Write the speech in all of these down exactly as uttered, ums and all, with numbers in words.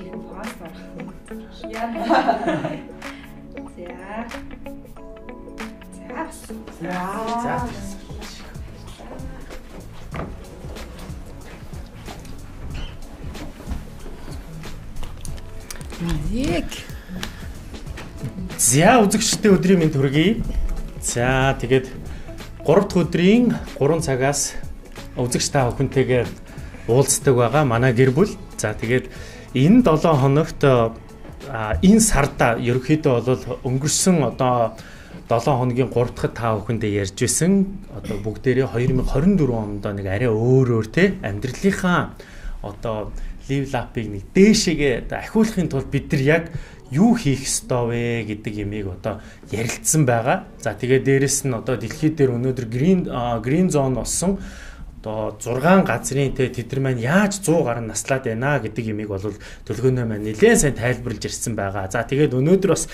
Фастер. Яа. За. За. За. Яг. За үзэгчдээ өдрийн мэнд хүргэе. За тэгээд гурав дахь өдрийн гурван цагаас үзэгч та бүхэнтэйгээ уулздаг байгаа манай гэр бүл. За тэгээд энэ долоон хоногт энэ сарда ерөнхийдөө бол өнгөрсөн одоо долоон хоногийн гурав дахь та бүхэндээ ярьж байсан одоо бүгдээрээ хоёр мың хорин дөрвөн онд нэг арай өөр өөр те амьдралынхаа одоо лив лапыг нэг дээшээгээ ахиулахын тулд бид нар яг юу хийх ёстой вэ гэдэг ямиг одоо ярилцсан байгаа. За тэгээд дээрэс нь одоо дэлхийд дээр өнөөдөр green green zone болсон одоо зургаан газрын те тэд нар маань яаж сто гаруй наслаад байна гэдэг ямиг бол төлгөөнөө маань нэлээд сайн тайлбарлаж ирсэн байгаа. За тэгээд өнөөдөр бас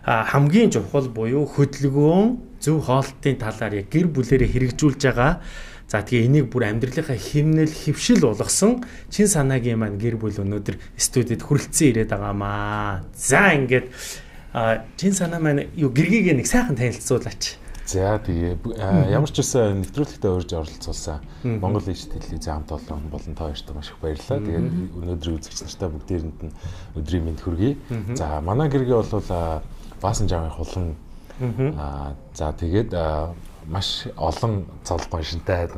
хамгийн чухал буюу хөдөлгөөн зөв хоолтын талаар яг гэр бүлэрээ хэрэгжүүлж байгаа. За тэгээ энийг бүр амьдралынхаа хэмнэл хөвшил болгосон чин санаагийн маань гэр бүл өнөөдөр студид хүрэлцэн ирээд байгаамаа. За ингээд чин санаа маань юу гэргийг нэг сайхан танилцуулаач. За тэгээ ямар ч үсэн нэвтрүүлэгтээ урьж оролцуулсан Монгол Ижил телевизийн хамт олон болон та хоёрт маш их баярлалаа. Тэгээд өнөөдрийн үзэгч нартай бүгдээрэнд нь өдрийн мэнд хүргэе. За манай гэргээ бол Баасан жавын хулан аа за тэгээд маш олон цолох машинтай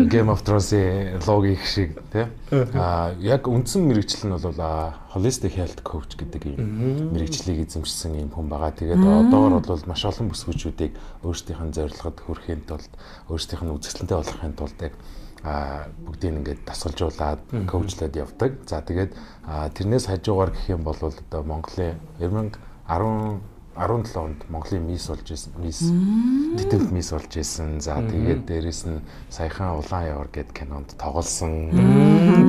Game of Thrones-ийн логик шиг тийм а яг үндсэн мэрэгчлэл нь бол holistic health coach гэдэг юм мэрэгчлийг эзэмшсэн юм хүн байгаа. Тэгээд одоогор бол маш олон бүсгүйчүүдийг өөрсдийнх нь зорилгод хүрэхин тулд өөрсдийнх нь үзэсгэлэнтэй болгохын тулд яг а бүгдийг ингээд дасгалжуулаад коучлаад явдаг. За тэгээд тэрнээс хажуугаар гэх юм бол одоо Монголын deux mille ten онд Монголын мисс болж исэн. Мисс титэмт мисс болж исэн. За тэгээд дээрэс нь саяхан Улаан явар гэдэг кинонд тоглосон.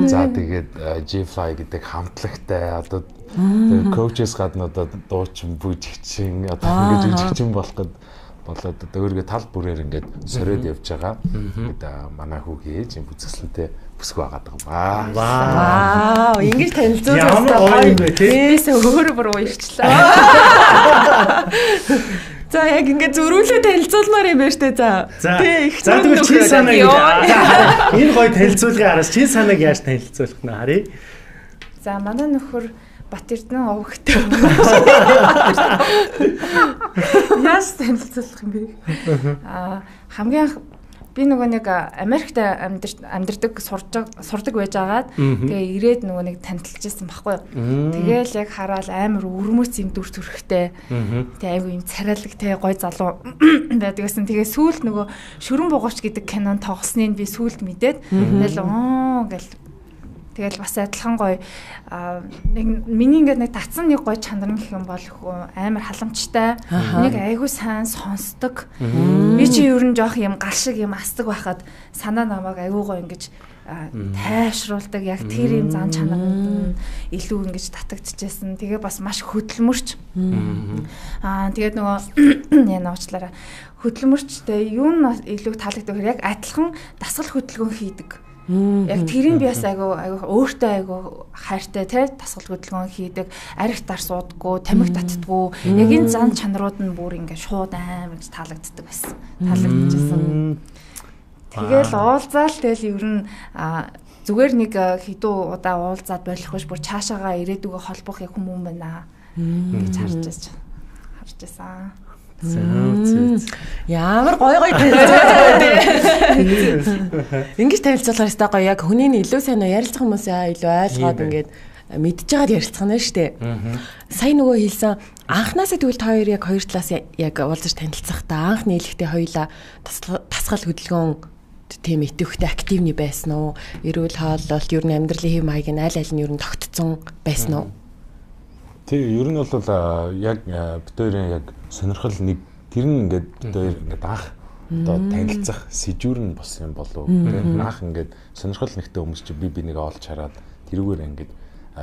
За тэгээд G-Fly гэдэг хамтлагтай одоо коучес гадна одоо дуучин бүжигчин одоо ингэж жүжигчин болох гээд болоод одоо өөргөө тал бүрээр ингээд сориод явж байгаа. Тэгээд манай хүүгийн ээж юм бүзэсгэлэнтэй бүсгүй байгаа даа. Вау, ингэж танилцуулсан гоё тийс өөр бүр уярчлаа. За яг ингэ зөрүүлээ танилцуулмаар юм байна штэ. За. Тэ их за тэгвэл чи санааг энэ гоё танилцуулгын араас чи санааг яаж танилцуулах нь харъя. За манай нөхөр Бат Эрдэнэ овогтой. Яаж танилцуулах юм бэ? Аа хамгийн би нөгөө нэг Америкт амьдардаг сурдаг сурдаг байж агаад тэгээ ирээд нөгөө нэг танилцж ирсэн байхгүй юу. Тэгээл яг хараад амар өрмөц юм дүр төрхтэй. Тэгээ айгу юм царайлagтай гой залуу байдгүйсэн. Тэгээ сүүлд нөгөө Шүрэн бугууч гэдэг кинон тоглосныг би сүүлд мэдээд тэгэл оо гэл тэгэл бас адилхан гоё нэг миний ингээд нэг татсан нэг гоё чанар гэх юм бол амар халамжтай. Нэг айгу сайн сонсдог. Би чи ер нь жоох юм гал шиг юм астдаг байхад санаа намайг айгу гоё ингэж тайшруулдаг. Яг тэр юм зан чанарнд илүү ингэж татагдчихсэн. Тэгээ бас маш хөдөлмөрч. Аа тэгээд нөгөө яна уучлаарай. Хөдөлмөрчтэй юу нь илүү таалагддаг хэрэг яг адилхан дасгал хөдөлгөөн хийдэг. Яг тэрийг би бас айгу айгу өөртөө айгу хайртай тий дасгал хөдөлгөөн хийдэг, арх дар суудаггүй, тамхи татдаггүй. Яг энэ зан чанарууд нь бүр ингээд шууд амар гэж таалагддаг байсан. Таалагдчихсан. Тэгэл уулзаал тэгэл ер нь зүгээр нэг хэдүү удаа уулзаад болох биш бүр цаашаага ирээдүгөө холбох яг хүмүүс байна гэж харж байгаа. Харж байсан. Ямар гой гой танилцуулаад ингэж танилцуулахаар өстой гоё яг хүний илүү сайн ярилцах хүмүүсээ илүү ойлгоод ингээд мэдчихээд ярилцах нь шүү дээ. Сайн нөгөө хэлсэн анхнаасаа тэгвэл та хоёр яг хоёр талаас яг уулзаж танилцах та анх нийлэхдээ хоёулаа тасгал хөдөлгөөн тийм идэвхтэй активны байсан уу? Эрүүл хооллолт ер нь амьдралын хэв маяг нь аль аль нь ер нь тогтцсон байсан уу? Тэг ер нь бол яг битүүрийн яг сонирхол нэг тэр нь ингээд битүүр ингээд анх одоо танилцах сэжүүр нь бос юм болов уу? Анх ингээд сонирхол нэгтэй хүмүүс чи би бинийг олж хараад тэрүүгээр ингээд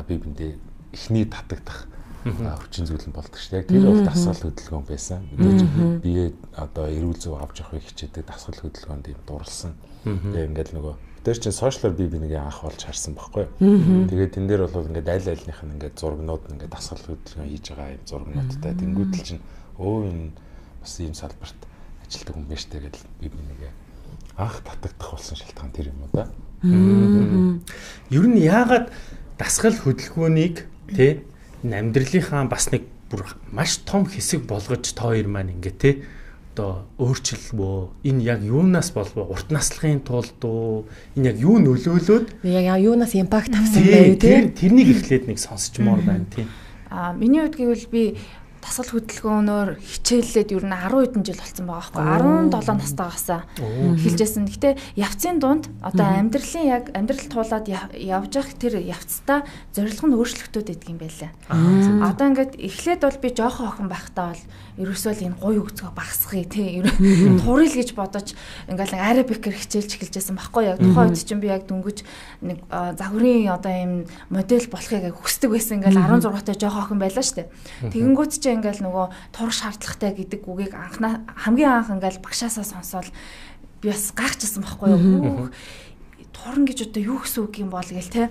би биндээ эхний татагдах хүчин зүйл нь болдог шүү дээ. Яг тэр бол дасгал хөдөлгөөн байсан. Мэдээж би одоо эрүүл зөв авч явахыг хичээдэг дасгал хөдөлгөөнд юм дурлсан. Тэгээ ингээд нөгөө Тэр чинь сошиалор би бинийг анх болж харсан байхгүй. Тэгээд тэн дээр бол ингээд аль альных нь ингээд зургнууд ингээд дасгал хөдөлгөөн хийж байгаа юм зургнуудтай. Тэнгүүдэл чинь өө энэ бас ийм салбарт ажилтдаг хүн байж тээ гэдэл би бинийг анх татагдах болсон шалтгаан тэр юм уу да. Ер нь яагаад дасгал хөдөлгөөнийг тий амьдралынхаа бас нэг бүр маш том хэсэг болгож та хоёр маань ингээ тий одоо өөрчлөлбөө энэ яг юунаас болов урт наслахын тулд уу энэ яг юу нөлөөлөөд яг юунаас импакт авсан бэ тий тэрнийг эхлээд нэг сонсчмоор байна тий. А миний хувьд гэвэл би дасгал хөдөлгөөнөөр хичээллээд ер нь арван хэдэн жил болсон байгаа байхгүй арван долоо настайгаасаа эхэлжсэн. Гэтэ явцын дунд одоо амьдралын яг амьдрал туулаад явж явах тэр явцдаа зорилго нь өөрчлөлтүүд байдаг юм байлаа. Одоо ингээд эхлээд бол би жоохон охин байхдаа бол ерөөсөө л энэ гуй өгцгөө багсгахыг тий турил гэж бодож ингээл арабикэр хичээлж эхэлжсэн байхгүй яг тухайн үед чинь би яг дөнгөж нэг загварын одоо ийм модель болохыг хүсдэг байсан ингээл арван зургаатай жоохон охин байлаа штэ. Тэгэнгүүт чи ингээл нөгөө турах шаардлагатай гэдэг үгийг анхнаа хамгийн анх ингээл багшаасаа сонсоод би бас гайхчихсан байхгүй юу. Турна гэж одоо юу гэсэн үг юм бол гээл те.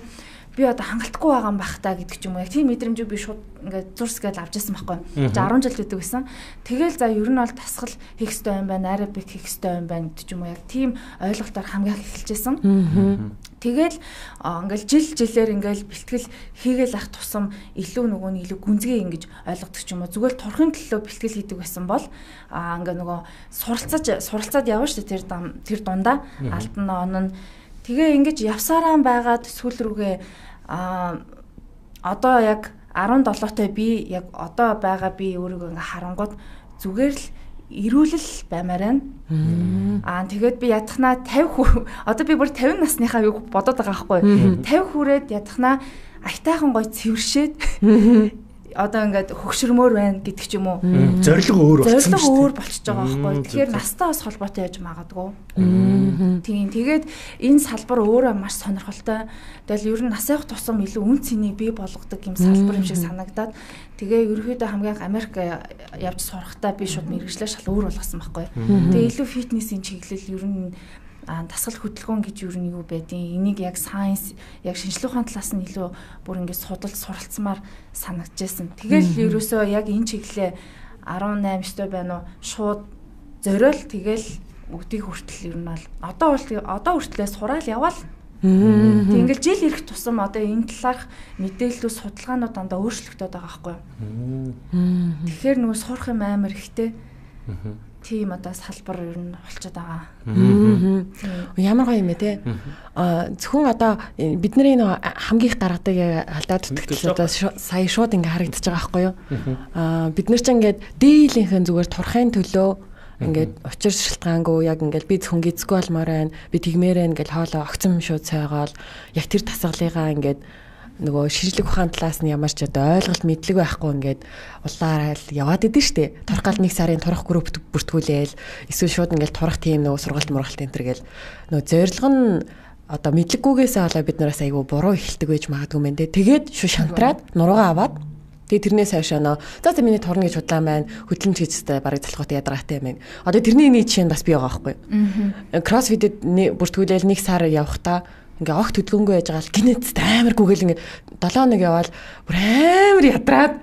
Би одоо хангалтгүй байгаа юм бах та гэдэг ч юм уу. Яг тийм мэдрэмжийг би шууд ингээд зурс гэж авч ирсэн байхгүй. арван жил гэдэг байсан. Тэгэл за ер нь бол тасгал хийх ёстой юм байна, арабик хийх ёстой юм байна гэдэг ч юм уу. Яг тийм ойлголтоор хамгийн их эхэлжсэн. Тэгэл ингээл жил жилээр ингээл бэлтгэл хийгээл ах тусам илүү нөгөө нь илүү гүнзгий ингэж ойлгодог ч юм уу. Зүгээр турхын төлөө бэлтгэл хийдэг байсан бол аа ингээ нөгөө суралцаж суралцаад явна шүү дээ тэр тэр дундаа алтан он нь тэгээ ингэж явсараа байгаад сүүл рүүгээ а одоо яг арван долоотой би яг одоо байгаа би өөрийгөө ингээ харангууд зүгээр л ирүүлэл баймаар байна. Аа тэгээд би ядахнаа тавих хүү одоо би бүр тавин насныхаа юу бодоод байгаа байхгүй. тавих хүрээд ядахнаа айтайхан гой цэвэршээд одоо ингээд хөгшөрмөр байна гэдэг ч юм уу. Зорилго өөр болчихсон шүү дээ. Зорилго өөр болчихж байгаа байхгүй. Тэгэхээр настай бас холбоотой яж магадгүй. Тийм. Тэгээд энэ салбар өөрөө маш сонирхолтой. Тэгэл ер нь нас явах тусам илүү үн цэнийг бий болгодог юм салбар юм шиг санагдаад тэгээ ерөөхдөө хамгийн Америк явж сурахдаа би шууд мэргэжлээ шал өөр болгосон байхгүй. Тэгээ илүү фитнесийн чиглэл ер нь а дасгал хөдөлгөөн гэж юу нь юу байдیں۔ Энийг яг сайенс, яг шинжлэх ухааны талаас нь илүү бүр ингэж судалж суралцмаар санагдчихсэн. Тэгэл ерөөсөө яг энэ чиглэлээ арван найман өстой байна уу шууд зориул тэгэл өгдгийг хүртэл ер нь бол одоо одоо хүртлээ сураал яваал. Тэг ингээл жил ирэх тусам одоо энэ талаарх мэдээлэлүүд судалгаанууд дандаа өөрчлөгдөд байгаа байхгүй юу. Тэгэхээр нөгөө сурах юм амар ихтэй. Тийм одоо салбар ер нь болчиход байгаа. Ямар гоё юм бэ те. А зөвхөн одоо бидний нөө хамгийн их гаргадаг алдаад дутагдал одоо сая шууд ингээ харагдаж байгаа байхгүй юу. А бид нар ч ингээд дийлийнхэн зүгээр турахын төлөө ингээд учир шалтгаангүй яг ингээд би зөвхөн гизгүй болмоор байна. Би тэгмээрэн ингээд хоолоо огцом шууд цайгаал яг тэр тасгалыгаа ингээд нөгөө шинжлэх ухааны талаас нь ямар ч одоо ойлголт мэдлэг байхгүй ингээд улаараа л яваад идэв штэ. Турхаал нэг сарын турах групп бүртгүүлээл эсвэл шууд ингээд турах тийм нөгөө сургалт мургалт энэ төр гээл нөгөө зорилго нь одоо мэдлэггүйгээсээ болоо бид нараас айгүй буруу эхэлдэг байж магадгүй мэн тэ. Тэгээд шууд шантраад нуруугаа аваад тэгээд тэрнээс хойш нөө за за миний турна гэж худлаан байна. Хөдөлмж хийжтэй барыг залхуутай ядаргаатай байна. Одоо тэрний нэг жишээ нь бас бий байгаа байхгүй. Кроссфитэд бүртгүүлээл нэг сар явахдаа ингээ огт хөдөлгөөнгүй байж байгаа л гинэт амар гүгэл ингээ долоо нэг яваал бүр амар ядраад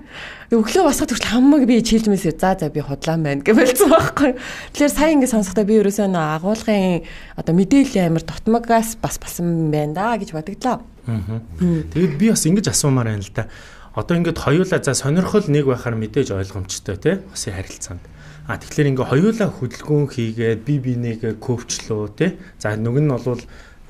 өглөө басахад хүртэл хамаг би чийлж мэсээ за за би худлаан байна гэж болцсон байхгүй. Тэгэхээр сая ингээ сонсохдоо би ерөөсөө нөө агуулгын одоо мэдээлэл амар дутмагаас бас басан байна да гэж бодогдлоо. Тэгээд би бас ингэж асуумаар байна л да. Одоо ингээд хоёулаа за сонирхол нэг байхаар мэдээж ойлгомжтой тий хосын харилцаанд. А тэгэхээр ингээ хоёулаа хөдөлгөөн хийгээд би бинийгээ коучлоо тий. За нүг нь бол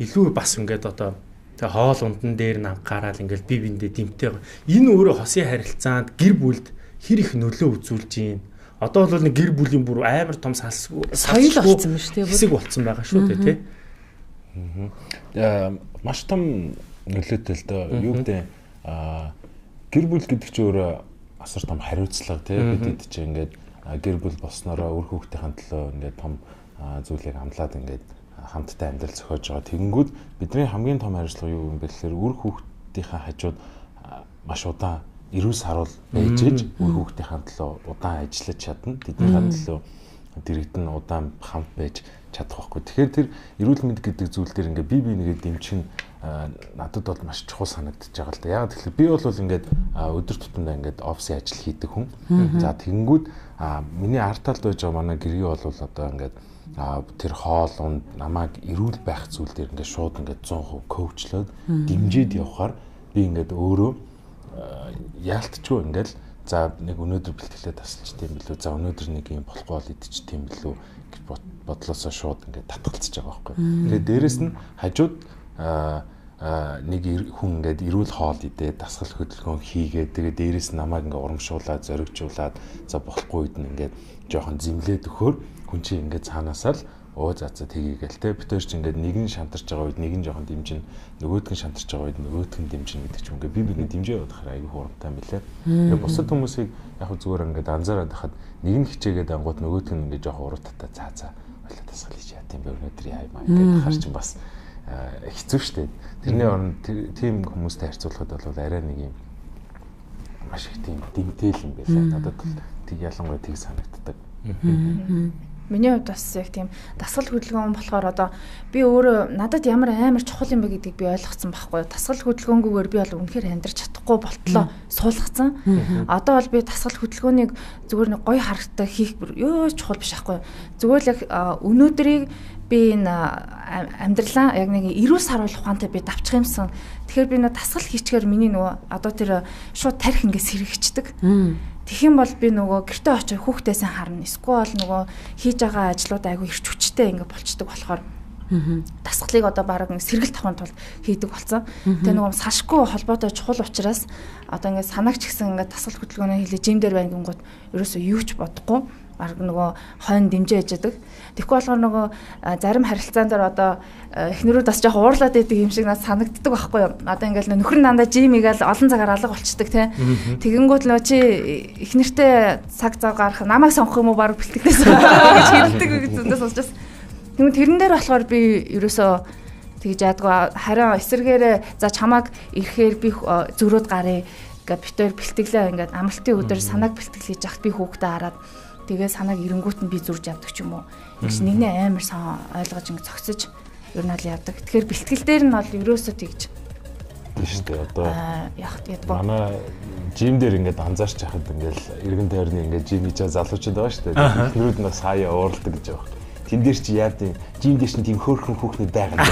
илүү бас ингээд одоо тэг хоол ундан дээр нь анхаарал ингээд бие биендээ дэмтэй. Энэ өөрөө хосын харилцаанд гэр бүлд хэр их нөлөө үзүүлж байна. Одоо бол нэг гэр бүлийн бүр амар том салсгүй соёл болсон юм шүү дээ. Хэсэг болсон байгаа шүү дээ тий. Аа маш том нөлөөтэй л доо. Юу гэдэг аа гэр бүл гэдэг чинь өөрөө асар том хариуцлага тий. Бид чинь ингээд гэр бүл болсноороо үр хүүхдийн төлөө ингээд том зүйлийг амлаад ингээд хамттай амьдрал зохиож байгаа. Тэгэнгүүт бидний хамгийн том хариуцлага юу юм бэ гэхээр үр хүүхдийнхээ хажууд маш удаан эрүүл саруул байж иж үр хүүхдийнхээ төлөө удаан ажиллаж чадна. Тэдний төлөө дэрэгдэн удаан хамт байж чадах байхгүй. Тэгэхээр тэр эрүүл мэнд гэдэг зүйл дээр ингээд бие бинийгээ дэмжих нь надад бол маш чухал санагдаж байгаа л да. Яг тэгэхээр би бол ингээд өдөр тутамдаа ингээд офисын ажил хийдэг хүн. За тэгэнгүүт миний арт талд байж байгаа манай гэрээ бол одоо ингээд тэр хоол унд намайг эрүүл байх зүйл дээр ингээд шууд ингээд сто процент коучлоод дэмжиж явахаар би ингээд өөрөө яалтчгүй ингээд за нэг өнөөдөр бэлтгэлээ тасалж тийм билүү, за өнөөдөр нэг юм болохгүй бол идчих тийм билүү гэж бодлосоо шууд ингээд татгалцаж байгаа байхгүй. Тэгээд дээрэс нь хажууд нэг хүн ингээд эрүүл хоол идээ, дасгал хөдөлгөөн хийгээд тэгээд дээрэс нь намайг ингээд урамшуулаад, зоригжуулаад за болохгүй үед нь ингээд жоохон зэмлээд өгөхөөр хүн чинь ингээд цаанаасаа л оо за за тгийгээл те битэр чи ингээд нэг нь шантарч байгаа үед нэг нь жоохон дэмжин, нөгөөдг нь шантарч байгаа үед нөгөөдг нь дэмжин гэдэг чинь ингээд би биний дэмжээ явах айгүй хурамтай юм билээ. Тэгээд бусад хүмүүсийг яг зүгээр ингээд анзаараад хахад нэг нь хичээгээд ангууд нөгөөдг нь ингээд жоохон уруу татаа цаа цаа болоо тасгал хийж яа тийм өнөөдөр яа юм аа ингээд хар чинь бас хэцүү шттэ. Тэрний оронд тийм хүмүүстэй харьцуулахад бол арай нэг юм маш их тийм дэмтэл юм байлаа. Надад тийг ялангуяа тийг санагддаг. Миний хувьд бас яг тийм дасгал хөдөлгөөн болохоор одоо би өөрөө надад ямар амар чухал юм бэ гэдгийг би ойлгоцсон байхгүй. Дасгал хөдөлгөөнгүйгээр би бол үнэхээр амьдрч чадахгүй болтлоо суулгацсан. Одоо бол би дасгал хөдөлгөөнийг зүгээр нэг гоё харагтай хийх ёо чухал биш байхгүй. Зүгээр л яг өнөөдрийг би энэ амьдралаа яг нэг эрүүл саруул ухаантай би давчих юмсан. Тэгэхээр би нэг дасгал хийчихээр миний нөгөө одоо тэр шууд тарих ингээс сэргийгчдэг. Тэгэх юм бол би нөгөө гэртээ очиж хүүхдээсээ харна. Эсвэл нөгөө хийж байгаа ажлууд айгүй ирч хүчтэй ингээ болчдөг болохоор дасгалыг одоо баг сэргэлт тавхын тулд хийдэг болсон. Тэгээ нөгөө салшгүй холбоотой чухал учраас одоо ингээ санаагч гэсэн ингээ дасгал хөдөлгөөнөө хийлээ жим дээр байна гингууд ерөөсөө юу ч бодохгүй баг нөгөө хойно дэмжиж яадаг. Тэгэхгүй болохоор нөгөө зарим харилцаан дээр одоо эхнэрүүд бас жоох уурлаад байдаг юм шиг надад санагддаг байхгүй юу. Одоо ингээл нөхөр нь дандаа жим игээл олон цагаар алга болчдөг тий. Тэгэнгүүт нөө чи эхнэртэй цаг зав гарах намайг сонгох юм уу баг бэлтгэдээс гэж хэлдэг зөндөөс учраас. Тэгмээ тэрэн дээр болохоор би ерөөсөө тэгж яадгаа харин эсэргээрээ за чамааг ирэхээр би зөрөөд гарыг гэ битээр бэлтгэлээ ингээд амралтын өдөр санааг бэлтгэл хийж яхад би хүүхдээ хараад тэгээ санааг эренгүүт нь би зурж явдаг ч юм уу. Гэж нэгнээ амар сан ойлгож ингэ цогцож ер нь л явдаг. Тэгэхээр бэлтгэл дээр нь бол ерөөсөө тэгж тийм шүү дээ. Одоо яг тийм манай жим дээр ингээд анзаарч яхад ингээл эргэн тойрны ингээд жим хийж залуучууд байгаа шүү дээ. Эхнэрүүд нь сая ууралдаг гэж байгаа. Тэн дээр чи яа тийм жим дээр чинь тийм хөөрхөн хүүхнүүд байгаа.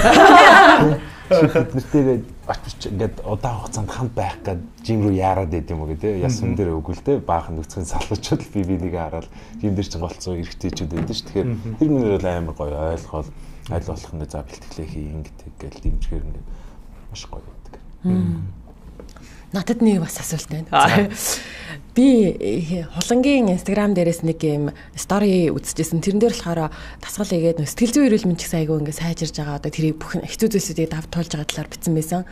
Нэртэйгээ очиж ингээд удаан хугацаанд хамт байх гээд жим рүү яарад байд юм уу гэдэг. Ясан дээр өгвөл те баахан нүцгэн салуучууд би бинийг хараад жим дээр чинь голцоо эргэжтэйчүүд байдаг ш. Тэгэхээр тэр минер бол амар гоё ойлгоод аль болох нь за бэлтгэлээ хий ингээд гэл дэмжгээр ингээд маш гоё байдаг. Надад нэг бас асуулт байна. Би хулангийн Instagram дээрээс нэг юм стори үзчихсэн. Тэрэн дээр болохоор дасгал игээд сэтгэл зүйн эрүүл мэндийн сайгүй ингээд сайжирж байгаа. Одоо тэрийг бүх хэцүү зүйлсүүдийг давж туулж байгаа талаар бичсэн байсан.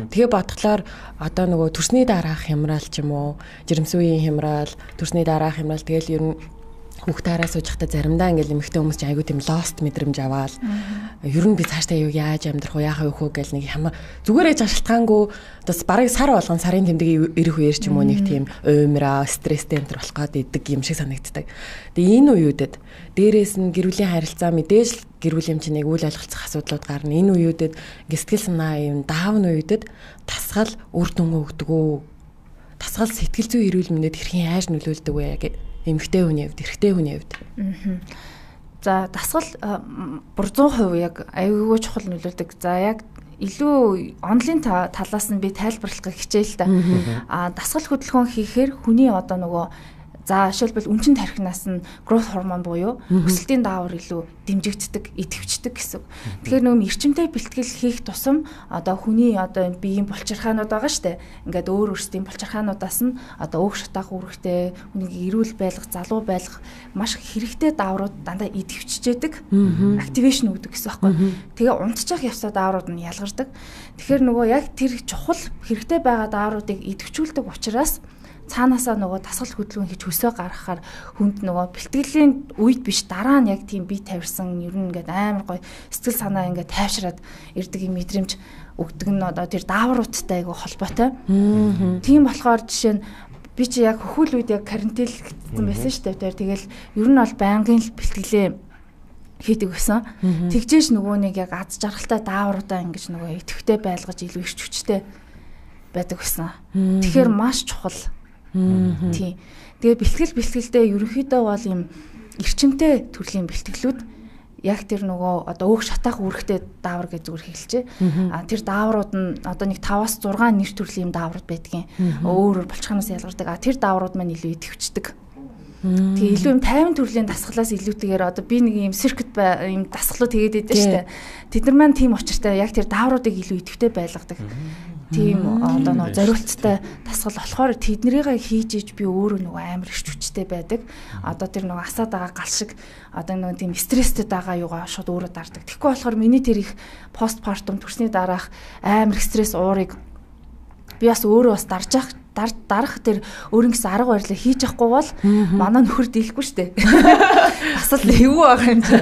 Тэгээ бодглоор одоо нөгөө төрсний дараах хямрал ч юм уу, жирэмсүүийн хямрал, төрсний дараах хямрал тэгэл ер нь хүүхдээрээ сууж захта заримдаа ингээл эмэгтэй хүмүүс чинь айгүй тийм lost мэдрэмж аваад ер нь би цаашдаа юу яаж амьдрах вэ яахаа юу хөө гэл нэг хама зүгээр ээж шалтгаангүй бас бараг сар болгон сарын тэмдэг ирэх үеэр ч юм уу нэг тийм уймраа стресстэй энэ болох гээд идэг юм шиг санагддаг. Тэгээ энэ үеүүдэд дээрээс нь гэр бүлийн харилцаа мэдээж гэр бүлийн чинь нэг үйл ойлголцох асуудлууд гарна. Энэ үеүүдэд сэтгэл санаа юм даавн үеүүдэд тасгал үр дүн өгдөг үү? Тасгал сэтгэл зүйн эрүүл мэндэд хэрхэн яаж нөлөөлдөг вэ гэх эмэгтэй хүний хувьд, эрэгтэй хүний хувьд. За дасгал бүр сто процент яг аюулгүй чухал нөлөөлдөг. За яг илүү онлайн талаас нь би тайлбарлахыг хичээл та. А дасгал хөдөлгөөн хийхээр хүний одоо нөгөө за жишээлбэл үнчин тархинаас нь growth hormone буюу өсөлтийн даавар илүү дэмжигддэг, идэвхждэг гэсэн. Тэгэхээр нөгөө эрчимтэй бэлтгэл хийх тусам одоо хүний одоо биеийн булчирхаанууд байгаа штэ. Ингээд өөр өөрсдийн булчирхаануудаас нь одоо өөх шатаах үүрэгтэй, хүнийг эрүүл байлгах, залуу байлгах маш хэрэгтэй дааврууд дандаа идэвхжижээдэг, activation өгдөг гэсэн байхгүй. Тэгээ унтчих явцад дааврууд нь ялгардаг. Тэгэхээр нөгөө яг тэр чухал хэрэгтэй байгаа даавруудыг идэвхжүүлдэг учраас цаанаасаа нөгөө дасгал хөдөлгөөн хийж хөсөө гаргахаар хүнд нөгөө бэлтгэлийн үед биш дараа нь яг тийм бие тавьсан ер нь ингээд амар гоё сэтгэл санаа ингээд тайвшраад ирдэг юм мэдрэмж өгдөг нь одоо тэр даавруудтай айгу холбоотой. Тийм болохоор жишээ нь би чи яг хөхүүл үед яг карантинлэгдсэн байсан шүү дээ. Тэгэл ер нь бол байнгын л бэлтгэлээ хийдэг байсан. Тэгжээш нөгөө нэг яг аз жаргалтай даавруудаа ингэж нөгөө идэвхтэй байлгаж илүү ирч хүчтэй байдаг байсан. Тэгэхээр маш чухал. Тийм. Тэгээ бэлтгэл бэлтгэлдээ ерөнхийдөө бол юм эрчимтэй төрлийн бэлтгэлүүд яг тэр нөгөө одоо өөх шатаах үүрэгтэй даавар гэж зүгээр хэлжээ. А тэр дааврууд нь одоо нэг таваас зургаан нэр төрлийн дааврууд байдгийн. Өөр өөр булчханаас ялгардаг. А тэр дааврууд маань илүү идэвхждэг. Тэгээ илүү юм тайван төрлийн дасгалаас илүүтэйгээр одоо би нэг юм циркет юм дасгалууд тэгээд байдаг шүү дээ. Тэд нар маань тийм учиртай яг тэр даавруудыг илүү идэвхтэй байлгадаг. Тийм одоо нөгөө зориулттай дасгал болохоор тэднэрийг хийж иж би өөрөө нөгөө амар ирч хүчтэй байдаг. Одоо тэр нөгөө асаад байгаа гал шиг одоо нөгөө тийм стресстэй байгаа юугаа шууд өөрөө дардаг. Тэгэхгүй болохоор миний тэр их постпартум төрсний дараах амар стресс уурыг би бас өөрөө бас дарж ах дарах тэр өөрийн гэсэн арга барилаа хийж явахгүй бол манай нөхөр дийлэхгүй штэ. Бас л юу байгаа юм чи.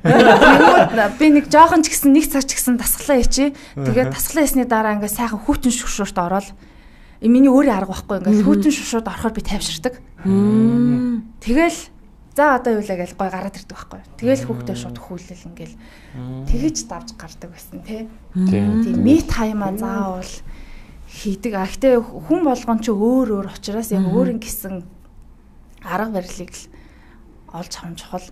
Амар. Би нэг жоохон ч гэсэн нэг цаг ч гэсэн дасглаа хийчи. Тэгээд дасглаа хийсний дараа ингээ сайхан хүүтэн шүшүүрт ороод миний өөрийн арга байхгүй ингээ хүүтэн шүшүүрт орохоор би тайвширдаг. Тэгэл за одоо юу лээ гэж гой гараад ирдэг байхгүй. Тэгэл хүүхдээ шууд хүүлэл ингээл тэгэж давж гардаг байсан тий. Тийм ми таймаа заавал хийдэг. А гэтээ хүн болгон ч өөр өөр учраас яг өөрийн гэсэн арга барилыг л олж авах чухал.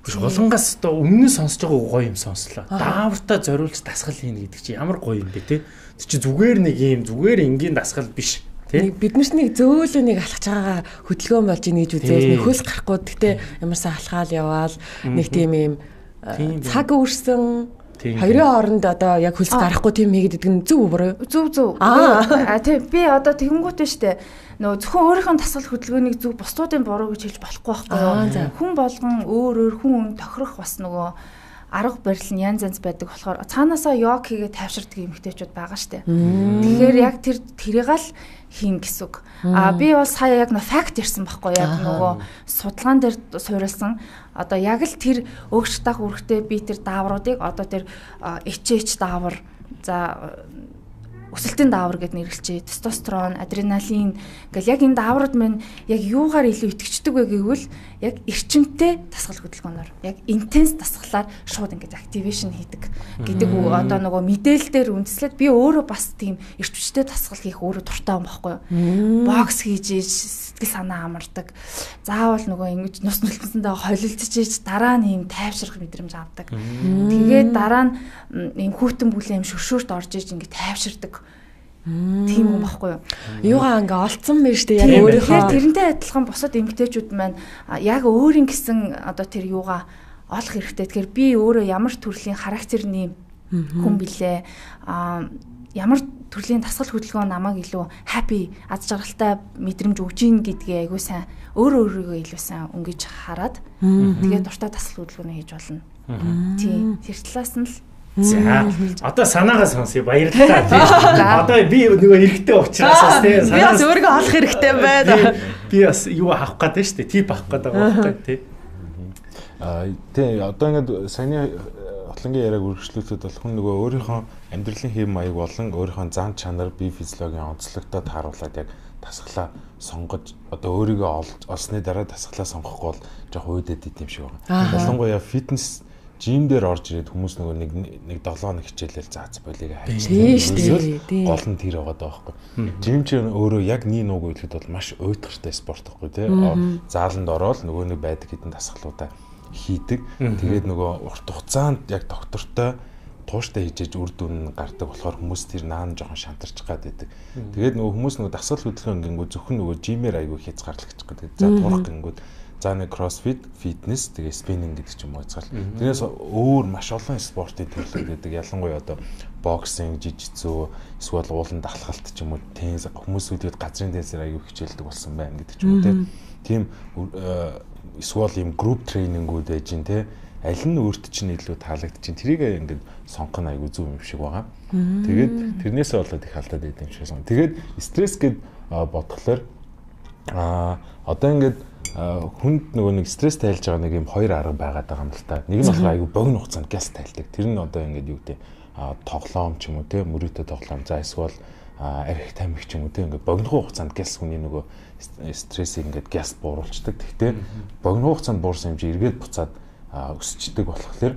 Хүч болгонгаас одоо өмнө нь сонсож байгаа гоё юм сонслоо. Даавартаа зориулж дасгал хийнэ гэдэг чинь ямар гоё юм бэ те. Тэр чинь зүгээр нэг юм зүгээр энгийн дасгал биш. Бид нарт нэг зөөлөө нэг алхаж байгаагаа хөдөлгөөн болж ийн гэж үзээс нэг хөлс гарахгүй. Гэтээ ямарсан алхаал яваал нэг тийм юм цаг үрсэн хоёрын хооронд одоо яг хөлс гарахгүй тийм хийгээд идэг нь зөв үү? Зөв зөв. Аа тий би одоо тэгэнгүүт нь штэ. Нөө зөвхөн өөрийнхөө тасгал хөдөлгөөнийг зөв бусдуудын буруу гэж хэлж болохгүй байхгүй юу? Хүн болгон өөр өөр хүн хүн тохирох бас нөгөө арга барил нь янз янз байдаг болохоор цаанаасаа йог хийгээд тайвширдаг эмэгтэйчүүд байгаа штэ. Тэгэхээр яг тэр тэрийг л хийн гэсэн үг. А би бол сая яг нөө факт ярьсан байхгүй яг нөгөө судалгаан дээр суурилсан одоо яг л тэр өөх шатаах үүрэгтэй би тэр даавруудыг одоо тэр эйч эйч даавар за өсөлтийн даавар гэд нэрлэлчээ. Тестостерон, адреналин гэл яг энэ дааврууд маань яг юугаар илүү итгэждэг вэ гэвэл яг эрчимтэй дасгал хөдөлгөөнөөр яг интенс дасгалаар шууд ингэж активашн хийдэг гэдэг үү. Одоо нөгөө мэдээлэлээр үндэслээд би өөрөө бас тийм эрчимтэй дасгал хийх өөрөө дуртай юм баггүй юу. Бокс хийж сэтгэл санаа амардаг. Заавал нөгөө ингэж нус нөлтсөндөө холилдож иж дараа нь юм тайвшрах мэдрэмж авдаг. Тэгээд дараа нь юм хүүтэн бүлэм шөршөөрт орж иж ингэ тайвширдаг. Тийм юм баггүй юу. Юугаа ингээ олцсон мэн штэ яг өөрийнхөө тэрнтэй адилхан бусад эмгтээчүүд маань яг өөрийн гэсэн одоо тэр юугаа олох хэрэгтэй. Тэгэхээр би өөрөө ямар төрлийн характерний хүн билээ. А ямар төрлийн дасгал хөдөлгөөн намайг илүү happy аз жаргалтай мэдрэмж өгж ийн гэдгээ айгуу сайн өөрөө өөрийгөө илүү сайн өнгөж хараад тэгээд дуртай дасгал хөдөлгөөнөө хийж болно. Тийм. Тэр талаас нь л за одоо санаагаа сонсъё баярлалаа тийм. Одоо би нөгөө хэрэгтэй учраас бас тийм санаа. Би бас өөрийгөө олох хэрэгтэй байна. Би бас юу авах гэдэг шүү дээ. Тип авах гэдэг байгаа тийм. Аа тийм одоо ингээд саяны хотлонгийн яриаг үргэлжлүүлээд бол хүн нөгөө өөрийнхөө амьдралын хэм маяг болон өөрийнхөө зан чанар, бие физиологийн онцлогтой тааруулаад яг дасглаа сонгож одоо өөрийгөө олсны дараа дасглаа сонгохгүй бол жоох уудэд идэм шиг байна. Ялангуяа фитнес жим дээр орж ирээд хүмүүс нөгөө нэг нэг долоо хоног хичээлэл заац болыг хайж тийм гол нь тэр байгаа даа байхгүй. Жим ч өөрөө яг нэг нууг хэлэхэд бол маш уйтгартай спорт байхгүй тий. Зааланд ороод нөгөө нэг байдаг хэдэн дасгалуудаа хийдэг. Тэгээд нөгөө урт хугацаанд яг доктортой тууштай хийжээж үр дүн гардаг болохоор хүмүүс тэр наан жоохон шантарч гад байдаг. Тэгээд нөгөө хүмүүс нөгөө дасгал хөдөлгөөн гингүү зөвхөн нөгөө жимээр айгүй хязгаарлагч гэдэг. За турах гингүүд за нэг кроссфит, фитнес, тэгээ спиннинг гэдэг ч юм уу хэзээ. Тэрнээс өөр маш олон спортын төрлүүд байдаг. Ялангуяа одоо боксинг, жижигцүү, эсвэл уулан далхалт ч юм уу, теннис хүмүүс үүдээд газрын теннисээр аягүй хичээлдэг болсон байна гэдэг ч юм уу тийм эсвэл юм групп тренингүүд байж гин те аль нь өөрт чинь илүү таалагдчихин тэрийг ингээд сонгох нь аягүй зөв юм шиг байгаа. Тэгээд тэрнээсээ болоод их алдаад байд юм шиг сон. Тэгээд стресс гэд бодглохлоор а одоо ингээд хүнд нөгөө нэг стресс тайлж байгаа нэг юм хоёр арга байгаад байгаа юм л та. Нэг нь болохоор аягүй богино хугацаанд гяс тайлдаг. Тэр нь одоо ингээд юу гэдэг тоглоом ч юм уу те мөрөөдө тоглоом за эсвэл арх тамхи ч юм уу те ингээд богино хугацаанд гяс хүний нөгөө стрессийг ингээд гяс бууруулцдаг. Гэхдээ богино хугацаанд буурсан хэмжээ эргээд буцаад өсчдөг болохоор